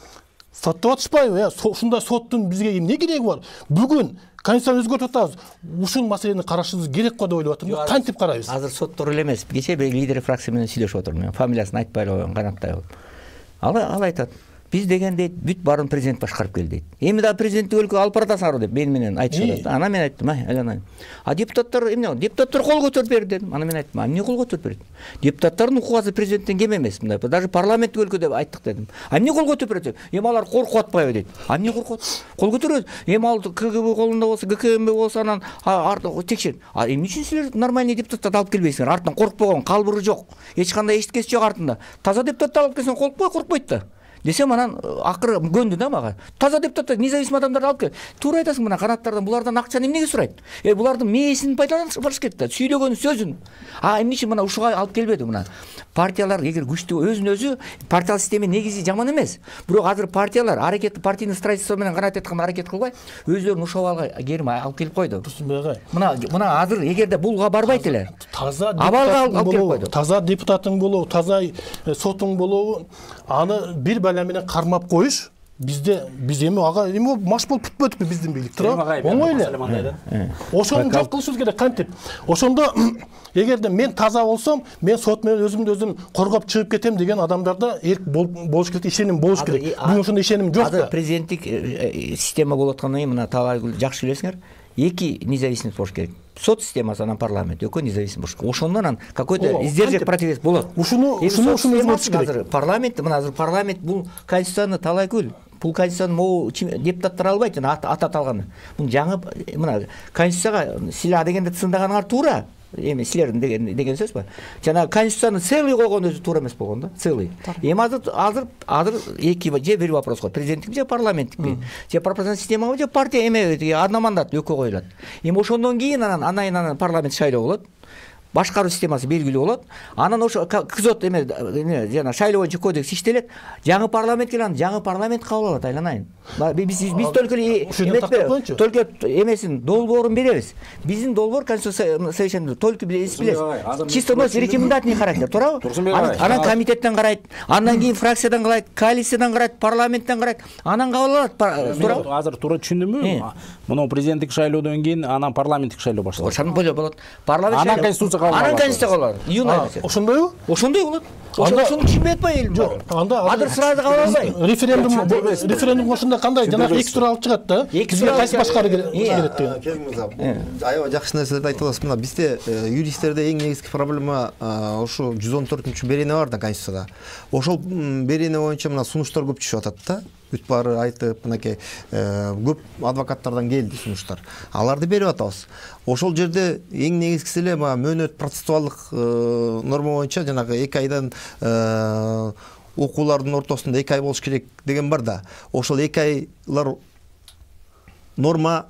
соттоп атышпайбы? Э, ушундай соттун бизге эмне кереги бар? Бүгүн Конституцияны өзгөртүп атабыз. Ушул маселени карашыбыз керек го деп ойлоп атам. Кантип карайбыз? Азыр соттор эле эмес. Кече бир лидер фракция менен сүйлөшүп отурдум. Мен фамилиясын айтпай эле коеюн, Канатбаев. Ал ал айтат. Биз деген дейт, бүт баарын президент башкарып келди дейт. Эми да президенттик өлкөгө алып баратасыңар деп мен менен айтышат. Ана мен айттым, айланайын. А депутаттар эмне? Депутаттар кол көтөрүп берди дедим. Ана мен айттым, эмне кол көтөрүп берди? Депутаттардын укугасы президенттен кем эмес, мындай. Даже парламенттик өлкө деп айттык дедим. А эмне кол көтөрүп берди? Эми алар коркуп атпайбы дейт. А эмне коркут? Кол көтөрөт. Эми ал КГБ колунда болсо, ГКМБ болсо анан артын текшер. А эмне үчүн силер нормальный депутаттарды алып келбейсиңер? Артынан коркпогон, калбыры жок. Эч кандай эчтекеси жок артында. Таза депутаттарды алып келсең коркпой, коркпойт да. Десем анан акыры көндү да мага. Таза депутаттар, независимый адамдарды алып кел. Туура айтасың, мына канаттардан булардан акчаны эмнеге сурайт? Э, булардын мээсин пайдаланып барыш керек да, сүйлөгөн сөзүн. А эмне үчүн мына ушуга алып келбеди мына? Партиялар эгер күчтүү өзүн өзү партиялык система негизи жаман эмес. Бирок азыр партиялар аракетти партийный строительство менен гана айткан аракет кылбай, өзүлөрүн ушул абалга керип алып келип койду. Мына мына азыр эгерде булга барбайт эле. Таза депутат болобу, таза депутатың болобу, таза сотуң болобу, аны бир бала менен кармап коюш бизде биз эми ага эми маш болуп бүтпөдүкпү биздин бийлик туурабы? Оңой эле. Ошону жок кылышыбыз керек. Кантип? Ошондо эгерде мен таза болсом, мен сот менен өзүмдү өзүм коргоп чыгып кетем деген адамдарда эрк болуш керек, ишеним болуш керек. Бүгүн ошондой ишеним жок да. Азыр президенттик система болуп аткандан кийин мына Талайгүл жакшы билесиңер, эки независимость болуш керек. Сот системасы, анан парламент, экөө независим болуш керек. Ошондон анан какой-то издержек противес болот. Ушуну ушуну ушуну өзгөртүш керек. Парламент, мына азыр парламент бул конституцияны Талайгүл, бул конституцияны могу депутаттар албайт, жана ата алганы. Бул жаңы мына конституцияга силер дегенде тыңдаганыңар туура. Эми силердин деген деген сөз бар. Жана конституцияны целый койгон өзү туура эмес болгон да, целый. Эми азыр азыр азыр эки же бир вопрос го. Президенттик же парламенттикпи? Же пропорциональный системабы же партия эме одномандат экөө коюлат. Эми ошондон кийин анан анан анан парламент шайлоо болот. Башкаруу системасы белгилүү болот. Анан ошо кызот эме жана шайлоо боюнча кодекс иштелет. Жаңы парламент келет, жаңы парламент кабыл алат, айланайын. Биз биз только эметпе, только эмесин долбоорун беребиз. Биздин долбоор конституция совершенно только билебиз. Чисто мына рекомендательный характер, туурабы? Анан комитеттен карайт, андан кийин фракциядан карайт, коалициядан карайт, парламенттен карайт, анан кабыл алат, туурабы? Азыр туура түшүндүмбү? Мына президенттик шайлоодон кийин анан парламенттик шайлоо башталат. Ошону болот. Парламент анан конституция анан конституция кабыл алат. Июнь айында. Ошондойбу? Ошондой болот. Ошону түшүнбөй атпайбы элим? Жок. Анда азыр сразу кабыл албайбы? Референдум референдум ошондо кандай жана эки тур алып чыгат да. Бизге кайсы башкаруу керек деген. Келин мырза, аябай жакшы нерселерди айтып атасыз. Мына бизде юристтерде эң негизги проблема ошо жүз он төртүнчү берене бар да конституцияда. Ошол берене боюнча мына сунуштар көп түшүп атат да. Бүт баары айтып, мынакей көп адвокаттардан келди сунуштар. Аларды берип атабыз. Ошол жерде эң негизгиси эле мөөнөт процессуалдык норма боюнча жанагы эки айдан окуулардын ортосунда эки ай болуш керек деген бар да. Ошол эки айлар норма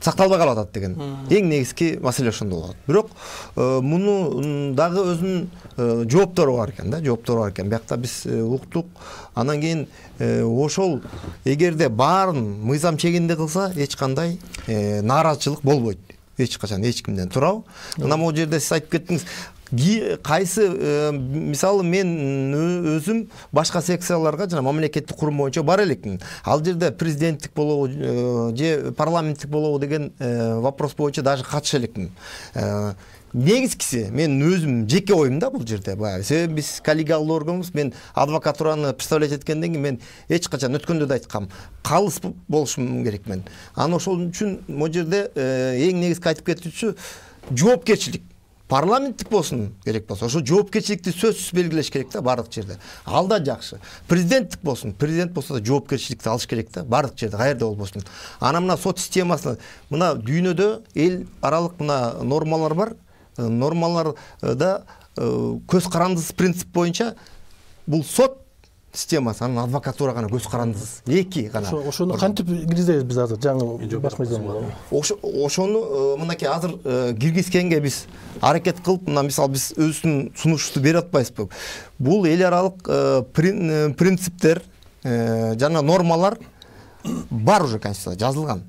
сакталбай калып атат деген. Эң негизги маселе ошондо болот. Бирок муну дагы өзүнүн жооптору бар экен да, жооптору бар экен. Биякта биз уктук. Анан кийин ошол эгерде баарын мыйзам чегинде кылса, эч кандай нааразычылык болбойт. Эч качан эч кимден, туурабы? Анан могу жерде сиз айтып кеттиңиз, кайсы мисалы мен өзүм башка секцияларга жана мамлекеттик курум боюнча бара элекмин. Ал жерде президенттик болобу же парламенттик болобу деген вопрос боюнча даже катыша элекмин. Негизгиси мен өзүм жеке оюм да бул жерде. Баягы себеби биз коллегиалдуу органбыз. Мен адвокатураны представлять эткенден кийин мен эч качан өткөндө да айткам, калыс болушум керек мен. Анан ошол үчүн могу жерде эң негизги айтып кетүүчү жоопкерчилик. Парламенттик болсун керек болсо, ошо жоопкерчиликти сөзсүз белгилеш керек да бардык жерде. Ал да жакшы. Президенттик болсун, президент болсо да жоопкерчиликти алыш керек да бардык жерде, каерде болбосун. Анан мына сот системасына, мына дүйнөдө эл аралык мына нормалар бар. Нормаларда көз карандысыз принцип боюнча бул сот системасы, анан адвокатура гана көз карандысыз. Эки гана. Ошону кантип киргизебиз биз азыр жаңы баш мыйзамга? Ошону мынакей азыр киргизгенге биз аракет кылып, мына мисалы биз өзүбүздүн сунушту берип атпайбызбы? Бул эл аралык принциптер жана нормалар бар уже конституцияда жазылган.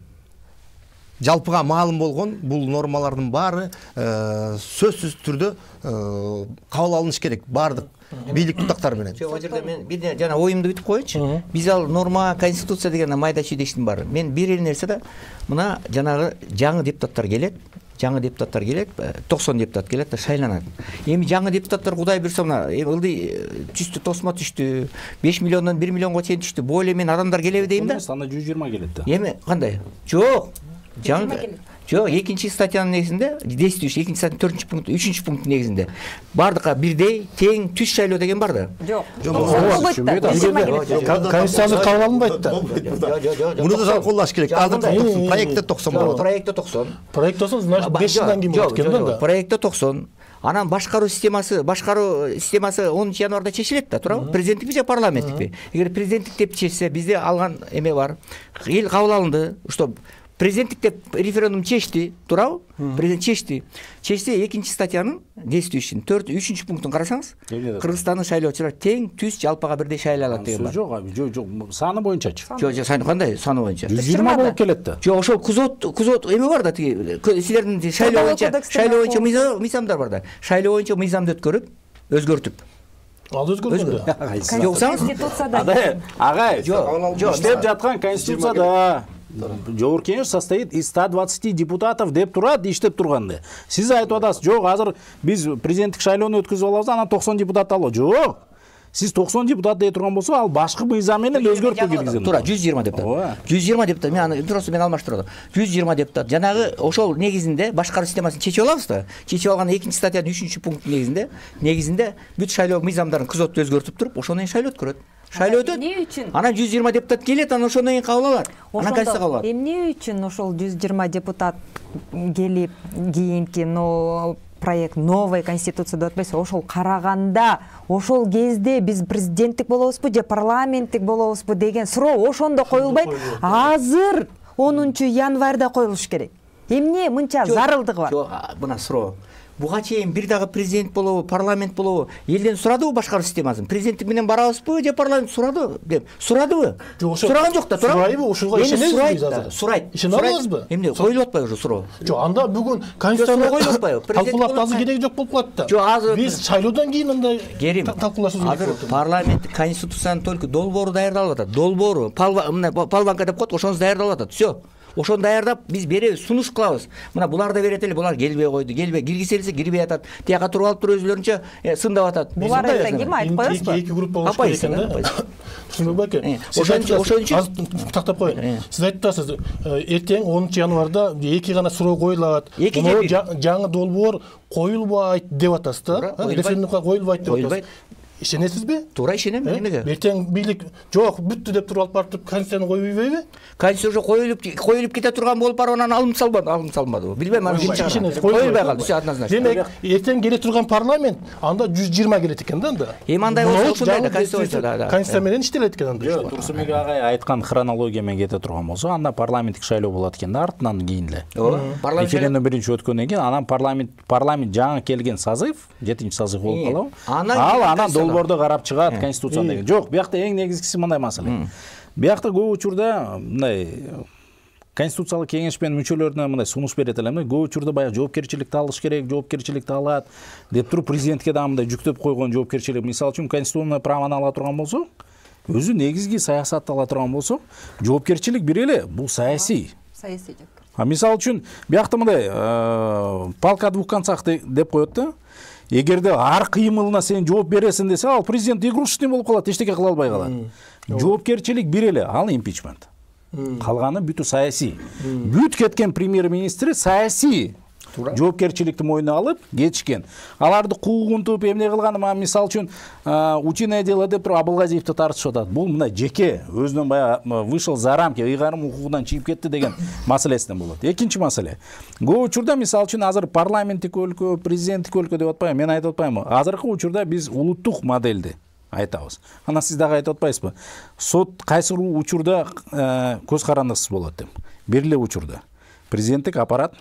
Жалпыга маалым болгон бул нормалардын баары сөзсүз түрдө кабыл алыныш керек бардык бийлик тутактар менен. Жок, ал жерде мен бир жана оюмду бүтүп коеюнчу. Биз ал норма, конституция деген майда чүйдө иштин бар. Мен бир эле нерсе да, мына жанагы жаңы депутаттар келет, жаңы депутаттар келет, токсон депутат келет да шайланат. Эми жаңы депутаттар Кудай буйрса мына ылдый түштү, тосмо түштү, беш миллиондон бир миллионго чейин түштү. Бул эле мен адамдар келеби дейм да. Анда жүз жыйырма келет да. Эми кандай? Жок. Жаңы жок, экинчи статьянын негизинде, действующий экинчи статьянын төртүнчү пункту, үчүнчү пунктун негизинде бардыкка бирдей тең түз шайлоо деген бар да. Жок. Конституцияны кабыл алынбайт да. Муну да талкуулаш керек. Азыр проектте токсон болот. Проектте токсон. Проект токсон, значит беш жылдан кийин болот экен да. Проектте токсон. Анан башкаруу системасы, башкаруу системасы онунчу январда чечилет да, туурабы? Президенттикпи же парламенттикпи? Эгер президенттик деп чечсе, бизде алган эме бар. Эл кабыл алынды, что президенттик деп референдум чечти, туурабы? Президент чечти. Чечсе экинчи статьянын действующий төрт үчүнчү пунктун карасаңыз, Кыргызстандын шайлоочулар тең түз жалпыга бирдей шайлай алат деген бар. Жок, жок, жок, саны боюнчачы. Жок, жок, саны кандай? Саны боюнча. жүз жыйырма болуп келет да. Жок, ошол кузот, кузот эме бар да, тиги силердин шайлоо боюнча, шайлоо боюнча мыйзамдар бар да. Шайлоо боюнча мыйзамды өткөрүп, өзгөртүп. Ал өзгөргөн да. Конституцияда агай, жок, иштеп жаткан конституцияда Жогорку Кеңеш состоит из ста двадцати депутатов деп турат, иштеп турганды. Сиз айтып атасыз, жок, азыр биз президенттик шайлоону өткөзүп алабыз, анан токсон депутат алып. Жок. Сиз токсон депутат дей турган болсо, ал башкы мыйзам менен өзгөртүү киргизет. Туура, жүз жыйырма депутат. жүз жыйырма депутат. Мен аны туурасы мен алмаштырып атам. жүз жыйырма депутат. Жанагы ошол негизинде башкаруу системасын чечип алабыз да. Чечип алган экинчи статьянын үчүнчү пункту негизинде, негизинде бүт шайлоо мыйзамдарын кызоту өзгөртүп туруп, ошондон кийин шайлоо өткөрөт. Шайлоо өтөт. Эмне үчүн? Анан жүз жыйырма депутат келет, анан ошондон кийин кабыл алат. Анан конституция кабыл алат. Эмне үчүн ошол жүз жыйырма депутат келип кийинки но проект новой конституция деп атпайсызбы? Ошол караганда, ошол кезде биз президенттик болобузбу же парламенттик болобузбу деген суроо ошондо коюлбайт. Азыр онунчу январда коюлуш керек. Эмне мынча зарылдыгы бар? Жок, мына суроо. Буга чейин бир дагы президент болобу, парламент болобу, элден сурадыбы башкаруу системасын? Президенттик менен барабызбы же парламент сурадыбы деп? Сурадыбы? Сураган жок да, туура. Сурайбы, ошого ишенесизби азыр? Сурайт. Ишене аласызбы? Эмне коюлуп атпайбы уже суроо? Жок, анда бүгүн конституцияны коюлуп атпайбы? Талкуулап азыр кереги жок болуп калат да. Жок, азыр биз шайлоодон кийин андай Керим, талкуулашыбыз керек азыр болот. парламент конституциянын только долбоору даярдалып атат. Долбоору, палванка деп коет, ошонусу даярдалып атат. Всё. Ошону даярдап биз беребиз, сунуш кылабыз. Мына булар да берет эле, булар келбей койду, келбей киргизелсе кирбей атат. Тияка туруп алып туруп өзүлөрүнчө сындап атат. Булар эле ким айтып коесузбу? Эки групп болуш керек экен да. Түшүнбөй байке. Ошон үчүн тактап коеюн. Сиз айтып атасыз, эртең онунчу январда эки гана суроо коюлат. Жаңы долбоор коюлбайт деп атасыз да. Референдумга коюлбайт деп атасыз. Ишенесизби? Туура ишенем. Эмнеге? Эртең бийлик жок, бүттү деп туруп алып барып конституцияны коюйбайбы? Конституция коюлуп коюлуп кете турган болуп барып анан алынып салбады, алынып салмадыбы? Билбейм, аны коюлбай калды, всё однозначно. Демек, эртең келе турган парламент анда жүз жыйырма келет экен да анда. Эми андай болсо ошондой да конституцияда. Конституция менен иштелет экен анда. Жок, Турсунбек агай айткан хронология менен кете турган болсо, анда парламенттик шайлоо болот экен да, артынан кийин эле. Ооба. Референдум биринчи өткөндөн кийин анан парламент парламент жаңы келген созыв, жетинчи созыв болуп калабы? Ал анан долбоорду карап чыгат. Конституция деген. Жок, биякта эң негизгиси мындай маселе. Биякта көп учурда мындай конституциялык кеңеш менен мүчөлөрүнө мындай сунуш берет эле. Көп учурда баягы жоопкерчиликти алыш керек, жоопкерчиликти алат деп туруп президентке да мындай жүктөп койгон жоопкерчилик. Мисалы үчүн конституционный праваны ала турган болсо, өзү негизги саясатты ала турган болсо, жоопкерчилик бир эле, бул саясий. Саясий жоопкерчилик. А мисалы үчүн биякта мындай палка о двух концах деп коет да. Эгерде ар кыймылына сен жооп бересиң десе, ал президент игрушечный болуп калат, эчтеке кыла албай калат. Жоопкерчилик бир эле, ал импичмент. Калганы бүтү саясий. Бүт кеткен премьер-министри саясий жоопкерчиликти мойнуна алып кетишкен. Аларды куугунтуп эмне кылганы, мисалы үчүн учиное дело деп туруп Абылгазиевди тартышып атат. Бул мына жеке өзүнөн баягы вышел за рамки, ыйгарым укугунан чыгып кетти деген маселесинен болот. Экинчи маселе. Көп учурда мисалы үчүн азыр парламенттик өлкө, президенттик өлкө деп атпайм, мен айтып атпаймынбы? Азыркы учурда биз улуттук модельди айтабыз. Анан сиз дагы айтып атпайсызбы? Сот кайсы учурда көз карандысыз болот деп. Бир эле учурда президенттик аппарат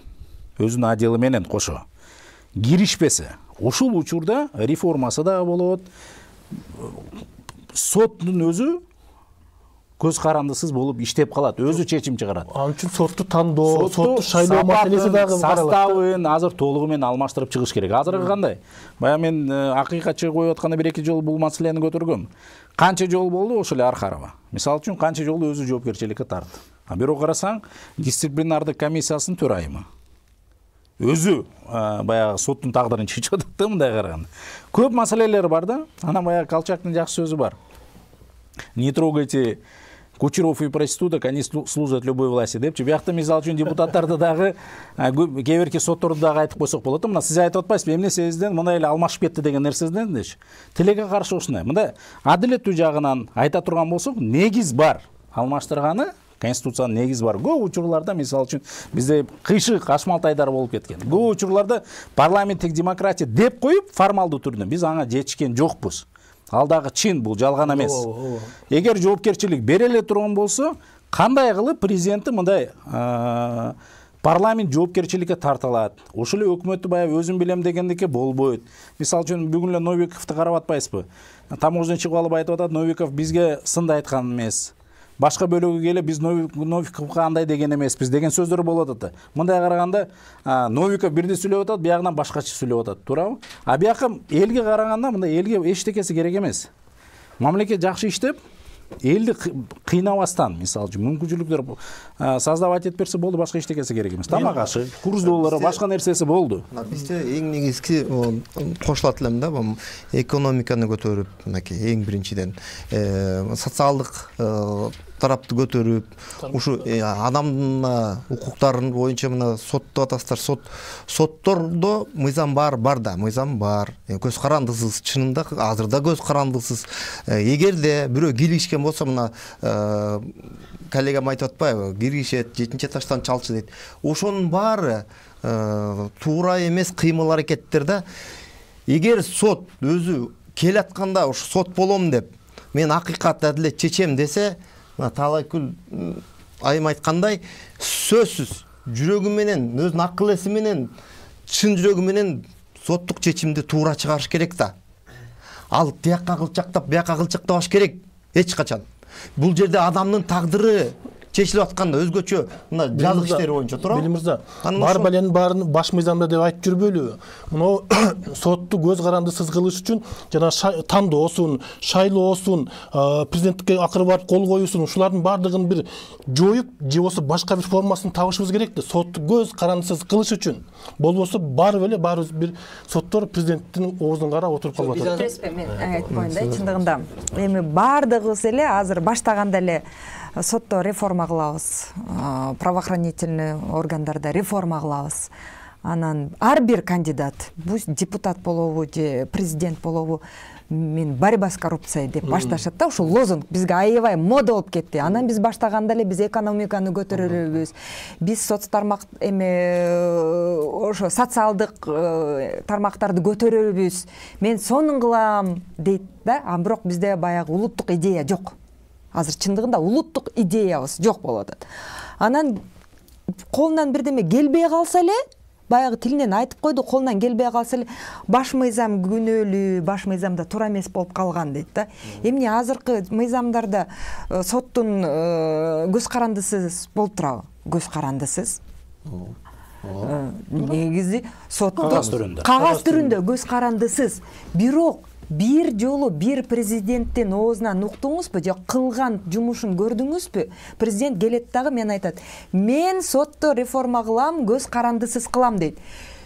өзүнүн отделы менен кошо киришпесе, ошол учурда реформасы да болот. Соттун өзү көз карандысыз болуп иштеп калат, өзү чечим чыгарат. Ал үчүн сотту тандоо, сотту шайлоо маселеси дагы каралат. Составын азыр толугу менен алмаштырып чыгыш керек. Азыркы кандай? Баягы мен акыйкатчы коюп атканда бир эки жолу бул маселени көтөргөм. Канча жол болду ошол эле Архарова. Мисалы үчүн канча жолу өзү жоопкерчиликке тартты. А бирок карасаң, дисциплинардык комиссиясынын төрайымы. Өзү баягы соттун тагдырын чечип атат да, мындай караганда. Көп маселелер бар да. Анан баягы Колчактын жакшы сөзү бар. Не трогайте кучеров и проституток, они служат любой власти депчи. Биякта мисалы үчүн депутаттарды дагы кээ бирки сотторду дагы айтып койсок болот. Мына сиз айтып атпайсызбы, эмне себептен мындай эле алмашып кетти деген нерседен дечи. Тилекке каршы ушундай. Мындай адилеттүү жагынан айта турган болсок, негиз бар. Алмаштырганы Конституциянын негизи бар. Көп учурларда мисалы үчүн бизде кыйшык Ашмалтайдар болуп кеткен. Көп учурларда парламенттик демократия деп коюп формалдуу түрдө биз аңа жетишкен жокпуз. Ал дагы чын, бул жалган эмес. Эгер жоопкерчилик бере эле турган болсо, кандай кылып президенти мындай парламент жоопкерчиликке тартылат? Ошол эле өкмөттү баягы өзүм билем дегендикке болбойт. Мисалы үчүн бүгүн эле Новиковду карап атпайсызбы? Таможня чыгып алып айтып атат, Новиков бизге сынды айткан эмес. башка бөлөгү келип биз Новиковго андай деген эмеспиз деген сөздөр болуп атат. Мындай караганда Новиков бирди сүйлөп атат, биягынан башкача сүйлөп атат, туурабы? А бияка элге караганда мындай элге эчтекеси керек эмес. Мамлекет жакшы иштеп, элди кыйнабастан, мисалы үчүн мүмкүнчүлүктөр создавать этип берсе болду, башка эчтекеси керек эмес. Тамак ашы, курс доллары, башка нерсеси болду. Бизде эң негизги кошулат элем да, бул экономиканы көтөрүп, мынакей эң биринчиден социалдык тарапты көтөрүп, ушу адамдын укуктарын боюнча мына соттоп атасыздар, сот соттордо мыйзам бар, бар да, мыйзам бар. Көз карандысыз, чынында азыр да көз карандысыз. Эгерде бирөө киргишкен болсо, мына коллегам айтып атпайбы, киргишет, жетинчи этаждан чалчы дейт. Ошонун баары туура эмес кыймыл аракеттер да. Эгер сот өзү келатканда ушу сот болом деп, мен акыйкат адилет чечем десе, Талайкүл айым айткандай, сөзсүз жүрөгү менен, өзүнүн акыл эси менен, чын жүрөгү менен соттук чечимди туура чыгарыш керек да. Ал тиякка кылчактап, бияка кылчактабаш керек эч качан. Бул жерде адамдын тагдыры чечилип атканда өзгөчө мына жазык иштери боюнча туурабы? Бели мырза, бар баленин баарын баш мыйзамда деп айтып жүрбөйлүбү? Мына сотту көз карандысыз кылыш үчүн жана тандоосун, шайлоосун, президенттикке акыры барып кол коюусун, ушулардын баардыгын бир жоюп, же болбосо башка бир формасын табышыбыз керек да, сотту көз карандысыз кылыш үчүн. Болбосо барып эле баарыбыз бир соттор президенттин оозун карап отуруп калып атат. Мен айтпайын да, чындыгында эми баардыгыбыз эле азыр баштаганда эле сотто реформа кылабыз, правоохранительный органдарда реформа кылабыз. Анан ар бир кандидат, бул депутат болобу же президент болобу, мен борьба с коррупцией деп башташат да, ушул лозунг бизге аябай мода болуп кетти. Анан биз баштаганда эле биз экономиканы көтөрөлүбүз, биз соц тармак эме ошо социалдык тармактарды көтөрөлүбүз, мен сонун кылам дейт да, а бирок бизде баягы улуттук идея жок. Азыр чындыгында улуттук идеябыз жок болуп атат. Анан колунан бирдеме келбей калса эле, баягы тилинен айтып койду, колунан келбей калса эле баш мыйзам күнөөлүү, баш мыйзамда туура эмес болуп калган дейт да. Эмне азыркы мыйзамдарда соттун көз карандысыз болуп турабы? Көз карандысыз. Негизи соттун кагаз түрүндө. Кагаз түрүндө көз карандысыз. Бирок бир жолу бир президенттин оозунан уктуңузбу же кылган жумушун көрдүңүзбү? Президент келет дагы мен айтат, мен сотто реформа кылам, көз карандысыз кылам дейт.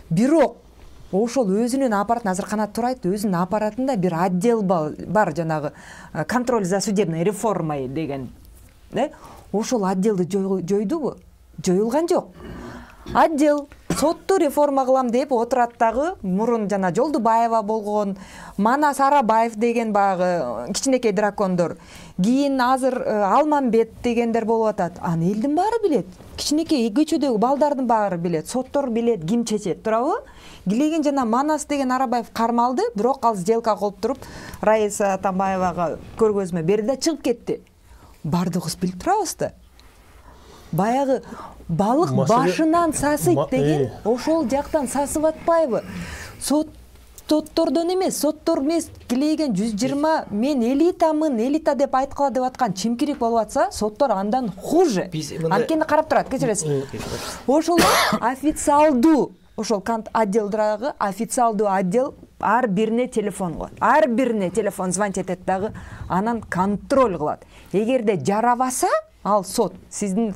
Бирок ошол өзүнүн аппаратын, азыр Канат Тура айтты, өзүнүн аппаратында бир отдел бар, жанагы контроль за судебной реформой деген. Ошол отделди жойдубу? Жоюлган жок. Отдел сотту реформа кылам деп отурат дагы, мурун жана Жолдубаева болгон, Манас Арабаев деген багы кичинекей дракондор, кийин азыр Алмамбет дегендер болуп атат. Аны элдин баары билет. Кичинекей көчөдөгү балдардын баары билет. Соттор билет, ким чечет, туурабы? Килеген жана Манас деген Арабаев кармалды, бирок ал сделка кылып туруп Раиса Атамбаевага көргөзмө берди да чыгып кетти. Бардыгыбыз билип турабыз да. Баягы балык башынан сасыйт деген ошол жактан сасып атпайбы? Соттордон эмес, соттор эмес, килеген жүз жыйырма мен элитамын, элита деп айткыла деп аткан чимкирик болуп атса, соттор андан хуже. Анткени карап турат, кечиресиз. Ошол официалдуу, ошол отделдагы официалдуу отдел ар бирине телефон коет. Ар бирине телефон звонить этет дагы, анан контроль кылат. Эгерде жарабаса, ал сот сиздин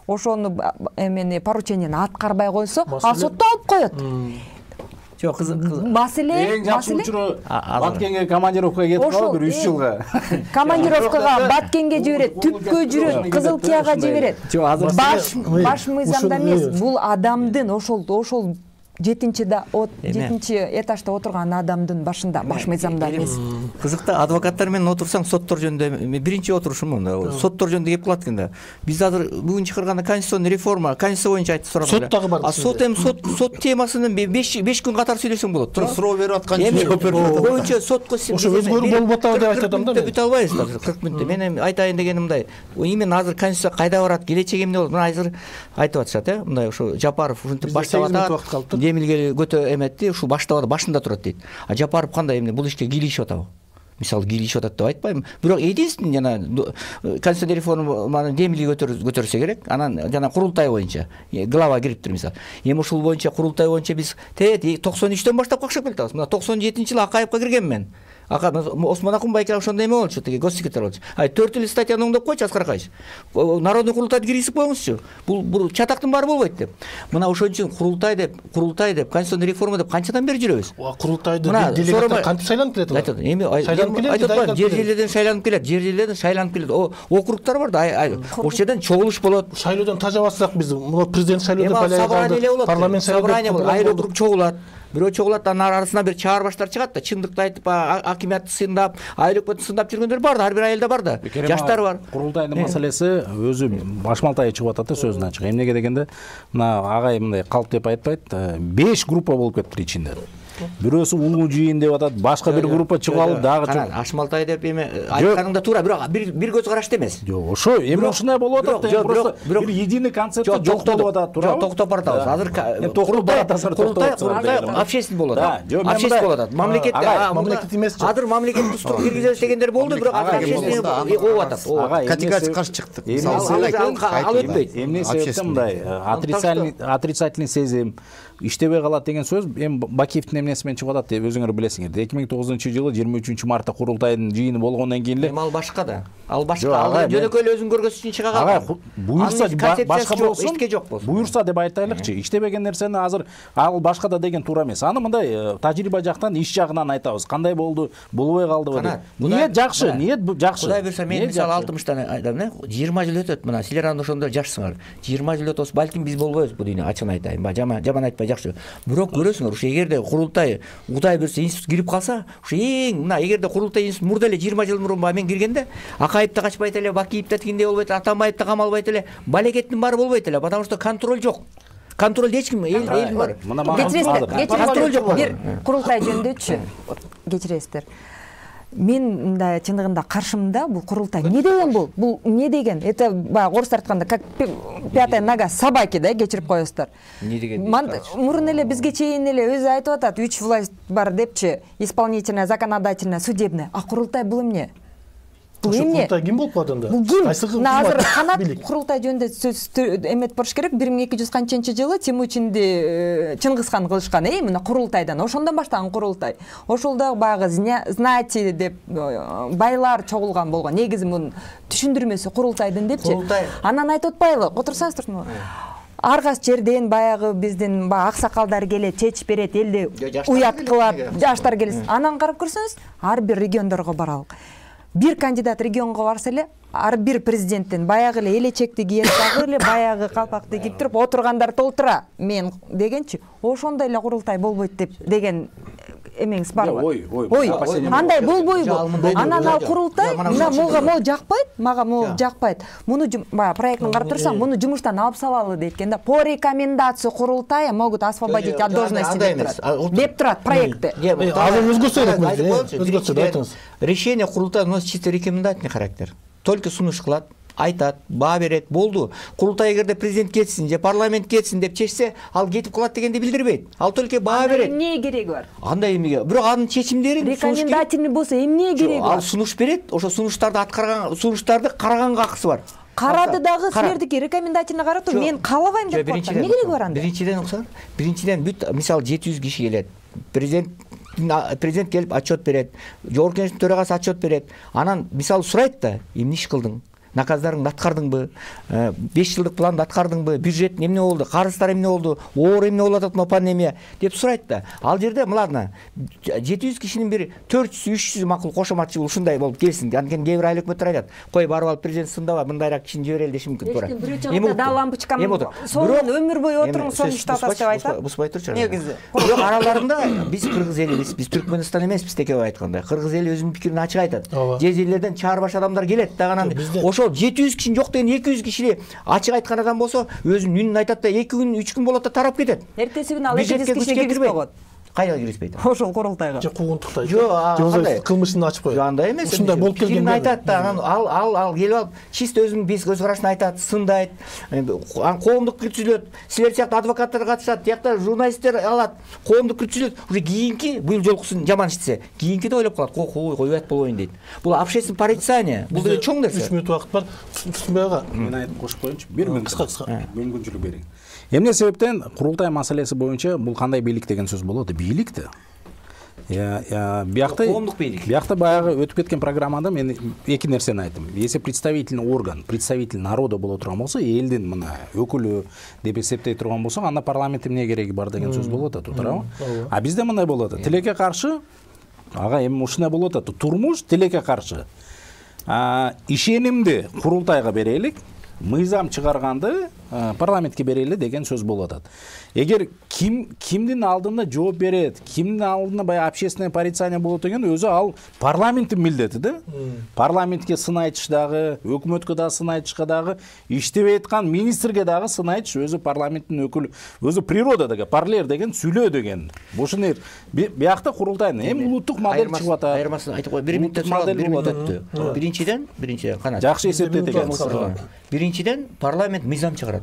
ошону эмени поручениени аткарбай койсо, ал сотто алып коет. Жок, кызык. Маселе, эң жакшы учуру Баткенге командировкага кетип калып бир үч жылга. Командировкага Баткенге жиберет, түпкө жүрөт, Кызыл Кияга жиберет. Баш баш мыйзамда эмес, бул адамдын ошол ошол жетинчи да жетинчи этажда отурган адамдын башында, баш мыйзамда эмес. Кызыкта адвокаттар менен отурсаң соттор жөнүндө биринчи отурушум мында. Соттор жөнүндө кеп калат экен да. Биз азыр бүгүн чыгарган конституционный реформа, конституция боюнча айтып сурап. Сот дагы бар. А сот эми сот сот темасынын беш күн катар сүйлөсөң болот. Тура суроо берип аткан жооп боюнча сотко ошо өзгөрүү болуп атабы деп айтат адамдар. Бүтө албайбыз да кырк мүнөттө. Мен эми айтайын дегеним мындай. Именно азыр конституция кайда барат, келечеги эмне болот? Мына азыр айтып атышат, э? Мындай ошо Жапаров ушинтип баштап атат. Демилге көтө эметти, ушу баштабада башында турат дейт. А Жапаров кандай эмне бул ишке кийлигишип атабы? мисалы кийлешип атат деп айтпайм, бирок единственный жана конституцион реформаны демилги көтөрсө керек, анан жана курултай боюнча глава кириптир мисалы. Эми ушул боюнча курултай боюнча биз токсон үчтөн баштап какшап келатабыз. Мына токсон жетинчи жылы Акаевка киргенмин мен. Осмон Акунбай ошондой эме болчу, тиги госсекретарь болчу. Ай төрт элүү статьяны оңдоп койчу Аскар Акаевич. Народный курултайды киргизип коюңузчу. Бул бул чатактын баары болбойт деп. Мына ошон үчүн курултай деп, курултай деп, конституционный реформа деп канчадан бери жүрөбүз? Курултайды делегаттар кантип шайланып келет? Эми айтып атпайм, жер жерлерден шайланып келет, жер жерлерден шайланып келет. Округтар бар да, ошол жерден чогулуш болот. Шайлоодон тажабасак биз, президент шайлоодон байланып, парламент шайлоодон айыл округ чогулат. Бирөө чогулат, анын арасынан бир чаар баштар чыгат да, чындыкты айтып, акимиятты сындап, айыл өкмөтүн сындап жүргөндөр бар да, ар бир айылда бар да. Жаштар бар. Курултайдын маселеси өзү башмалтай чыгып атат да сөзүн ачык. Эмнеге дегенде, мына агай мындай калп деп айтпайт, беш группа болуп кетти ичинде. Бирөөсү улуу жыйын деп атат, башка бир группа чыгып алып дагы чыгып. Ашмалтай деп эме айтканыңда туура, бирок бир бир көз карашты эмес. Жок, ошо эми ушундай болуп атат да, просто бир единый концепт жок болуп атат, туура. Жок, токтоп баратабыз. Азыр токтоп баратасыздар, токтоп. Курултай общественный болот. Общественный болот атат. Мамлекет мамлекет эмес. Азыр мамлекет тустук киргизебиз дегендер болду, бирок общественный болуп атат. Категория каршы чыктык. Ал өтпөйт. Эмне себептен мындай отрицательный отрицательный сезим иштебей калат деген сөз эми Бакиевдин эмнеси менен чыгып атат деп өзүңөр билесиңер. эки миң тогузунчу жылы жыйырма үчүнчү мартта курултайдын жыйыны болгондон кийин эле. Эми ал башка да. Ал башка. Ал жөнөкөй эле өзүн көргөзүш үчүн чыга калган. Буюрса башка болсун, эчке жок болсун. Буюрса деп айтайлыкчы. Иштебеген нерсени азыр ал башка да деген туура эмес. Аны мындай тажрыйба жактан, иш жагынан айтабыз. Кандай болду, болбой калдыбы деп. Ниет жакшы, ниет жакшы. Кудай буйрса мен мисалы алтымыштан айтам, э, жыйырма жыл өтөт. Мына силер анда ошондо жашсыңар. жыйырма жыл өтөт, балким биз болбойбуз бу дүйнө, ачыгын айтайын. Жаман жаман айтпай жакшы. Бирок көрөсүңөр, ушу эгерде курултай Кудай буйрса институт кирип калса, ушу эң мына эгерде курултай институт мурда эле жыйырма жыл мурун мен киргенде Акаев да качпайт эле, Бакиев да тигиндей болбойт, Атамбаев да камалбайт эле, балекеттин баары болбойт эле, потому что контроль жок. Контроль эч ким эл эл бар. Контроль жок. Бир курултай жөнүндөгүчү кечиресиздер. Мен мындай чындыгында каршымда бул курултай. Не деген бул? Бул не деген? Это баягы орустар айтканда как пятая нога собаки да, кечирип коесуздар. Не деген? Мурун эле бизге чейин эле өзү айтып атат, үч власть бар депчи, исполнительная, законодательная, судебная. А курултай бул эмне? Бул эмне? Курултай ким болуп калат анда? Бул ким? Азыр канат курултай жөнүндө сөз эмет болуш керек. бир миң эки жүз канчынчы жылы Темучинди Чыңгызхан кылышкан, э, мына курултайдан. Ошондон баштаган курултай. Ошол да баягы знати деп байлар чогулган болгон. Негизи мунун түшүндүрмөсү курултайдын депчи. Анан айтып атпайлы, отурсаңыздармы? Ар кайсы жерден баягы биздин баягы аксакалдар келет, чечип берет, элди уят кылат, жаштар келет. Анан карап көрсөңүз, ар бир региондорго баралык. Бир кандидат регионго барса эле, ар бир президенттен баягы эле элечекти кийет, дагы эле баягы калпакты кийип туруп отургандар толтура мен дегенчи, ошондой эле курултай болбойт деп деген эмеңиз барбы? Ой, ой. Андай болбойбу? Анан ал курултай, мына мага могу жакпайт, мага могу жакпайт. Муну баягы проектин карап турсаң, муну жумуштан алып салалы дейт экен да. По рекомендации курултая могут освободить от должности деп турат проекты. Азыр өзгөчө айтыңыз. Решение курултая носит чисто рекомендательный характер. Только сунуш кылат, айтат, баа берет, болду. Курултай эгерде президент кетсин же парламент кетсин деп чечсе, ал кетип калат дегенди билдирбейт. Ал только баа берет. Эмне кереги бар? Андай эмне? Бирок анын чечимдерин рекомендательный болсо эмне кереги бар? Ал сунуш берет, ошо сунуштарды аткарган, сунуштарды караганга акысы бар. Карады дагы силердики рекомендательный каратып, мен каалабайм деп коет. Эмне кереги бар анда? Биринчиден уксаңар, биринчиден бүт мисалы жети жүз киши келет. Президент президент келип отчет берет, жогорку кеңештин төрагасы отчет берет. Анан мисалы сурайт да, эмне иш кылдың? Наказдарыңды аткардыңбы? беш жылдык планды аткардыңбы? Бюджет эмне болду? Карыздар эмне болду? Оор эмне болуп атат, пандемия деп сурайт да. Ал жерде мына жети жүз кишинин бир төрт жүз үч жүз макул кошоматчыл ушундай болуп келсин. Анткени кээ бир айыл өкмөттөр айтат, кой барып алып президент сындаба, мындайраак кишини жиберели деши мүмкүн туура. Эми да лампочкам сонун өмүр бою отуруң, сонун иштеп атат деп айтат. Буспай турчу. Негизи. Бирок араларында биз кыргыз элибиз, биз Түркмөнстан эмеспиз деп айткандай. Кыргыз эли өзүнүн пикирин ачык айтат. Же жерлерден чаар баш адамдар келет дагы ошол жети жүз киши жок деген эки жүз киши ачык айткан адам болсо өзүнүн үнүн айтат да эки күн үч күн болот да тарап кетет. Эртеси күнү ал эки жүз киши киргизбей койот. кайда киргизбейт? Ошол курултайга. Же куугунтуктайт. Жок, кандай? Кылмышын ачып коет. Андай эмес. Ушундай болуп келген. Пикирин айтат да, анан ал ал ал келип алып чисто өзүнүн көз карашын айтат, сындайт. Анан коомдук күрөчүлөт. Силер сыяктуу адвокаттар катышат, тиякта журналисттер алат, коомдук күрөчүлөт. Уже кийинки быйыл жолкусун жаман иштесе, кийинкиде ойлоп калат, кой койбойт болбойн дейт. Бул общественный порицание. Бул деген чоң нерсе. үч мүнөт убакыт бар. Түсүнбөй ага. Мен айтып кошуп коеюнчу. бир мүнөт. Кыска кыска. Мүмкүнчүлүк бериң. Эмне себептен курултай маселеси боюнча бул кандай бийлик деген сөз болот? Бийлик да. Я биякта коомдук бийлик. Биякта баягы өтүп кеткен программада мен эки нерсени айттым. Если представительный орган, представитель народа боло турган болсо, элдин мына өкүлү деп эсептей турган болсо, анда парламентте эмне кереги бар деген сөз болот да, туурабы? А бизде мындай болот. Тилекке каршы, ага эми ушундай болот да, турмуш тилекке каршы. А ишенимди курултайга берелик, мыйзам чыгарганды парламентке берели деген сөз болуп атат. Эгер ким кимдин алдында жооп берет, кимдин алдында баягы общественное порицание болот деген өзү ал парламенттин милдети да. Парламентке сын айтыш дагы, өкмөткө дагы сын айтышка дагы, иштебей аткан министрге дагы сын айтыш өзү парламенттин өкүлү, өзү природа деген, парлер деген сүйлөө деген. Ушуну биякта курултайдын эми улуттук модель чыгып атат. Айырмасын айтып кой. бир мүнөттө сурап, бир мүнөт өттү. Биринчиден, биринчиден канат. Жакшы эсептейт экен. Биринчиден парламент мыйзам чыгарат.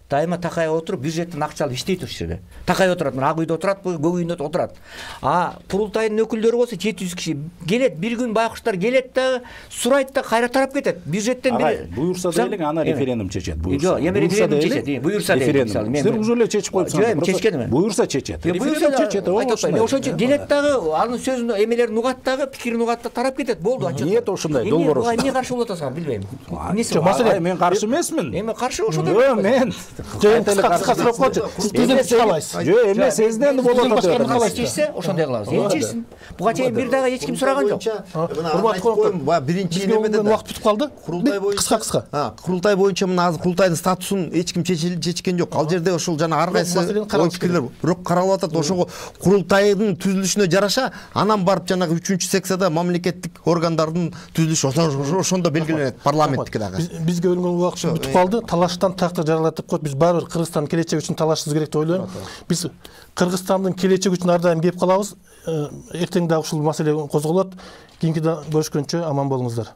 Дайыма такай отуруп бюджеттен акча алып иштейт ушул жерде. Такай отурат, мына ак үйдө отурат, көк үйдө отурат. А курултайдын өкүлдөрү болсо жети жүз киши келет, бир күн байкуштар келет да, сурайт да, кайра тарап кетет. Бюджеттен бир буюрса дейлик, ана референдум чечет. Жок, эми референдум чечет. Буюрса дейлик. Силер уже эле чечип коюпсуңар. Жок, чечкенми? Буюрса чечет. Референдум чечет. Ошончо келет дагы, анын сөзүн, эмелерин угат дагы, пикирин угат да, тарап кетет. Болду. Нет, ошондой долбоор. Эмне каршы болуп атасың, билбейм. Эмнеси? Маселе, мен каршы эмесмин. Эми каршы ошондой. Жок, мен кыска сурап койчу. Сиз түзөп чыга аласыз. Жок, эме сезден болот атат. Калай чечсе, ошондой кылабыз. Эми чечсин. Буга чейин бир дагы эч ким сураган жок. Урматтуу коноктор, биринчи немеде убакыт бүтүп калды. Курултай боюнча кыска кыска. А, курултай боюнча мына азыр курултайдын статусун эч ким чечкен жок. Ал жерде ошол жана ар кайсы ой пикирлер бирок каралып атат. Ошого курултайдын түзүлүшүнө жараша, анан барып жанагы үчүнчү секцияда мамлекеттик органдардын түзүлүшү ошондо белгиленет, парламенттики дагы. Бизге бөлүнгөн убакыт бүтүп калды. Талаштан тактыр жаралатып коет. Биз баары бир Кыргызстандын келечеги үчүн талашыбыз керек деп ойлойм. Биз Кыргызстандын келечеги үчүн ар дайым кеп калабыз. Эртең дагы ушул маселе козголот. Кийинки көрүшкөнчө аман болуңуздар.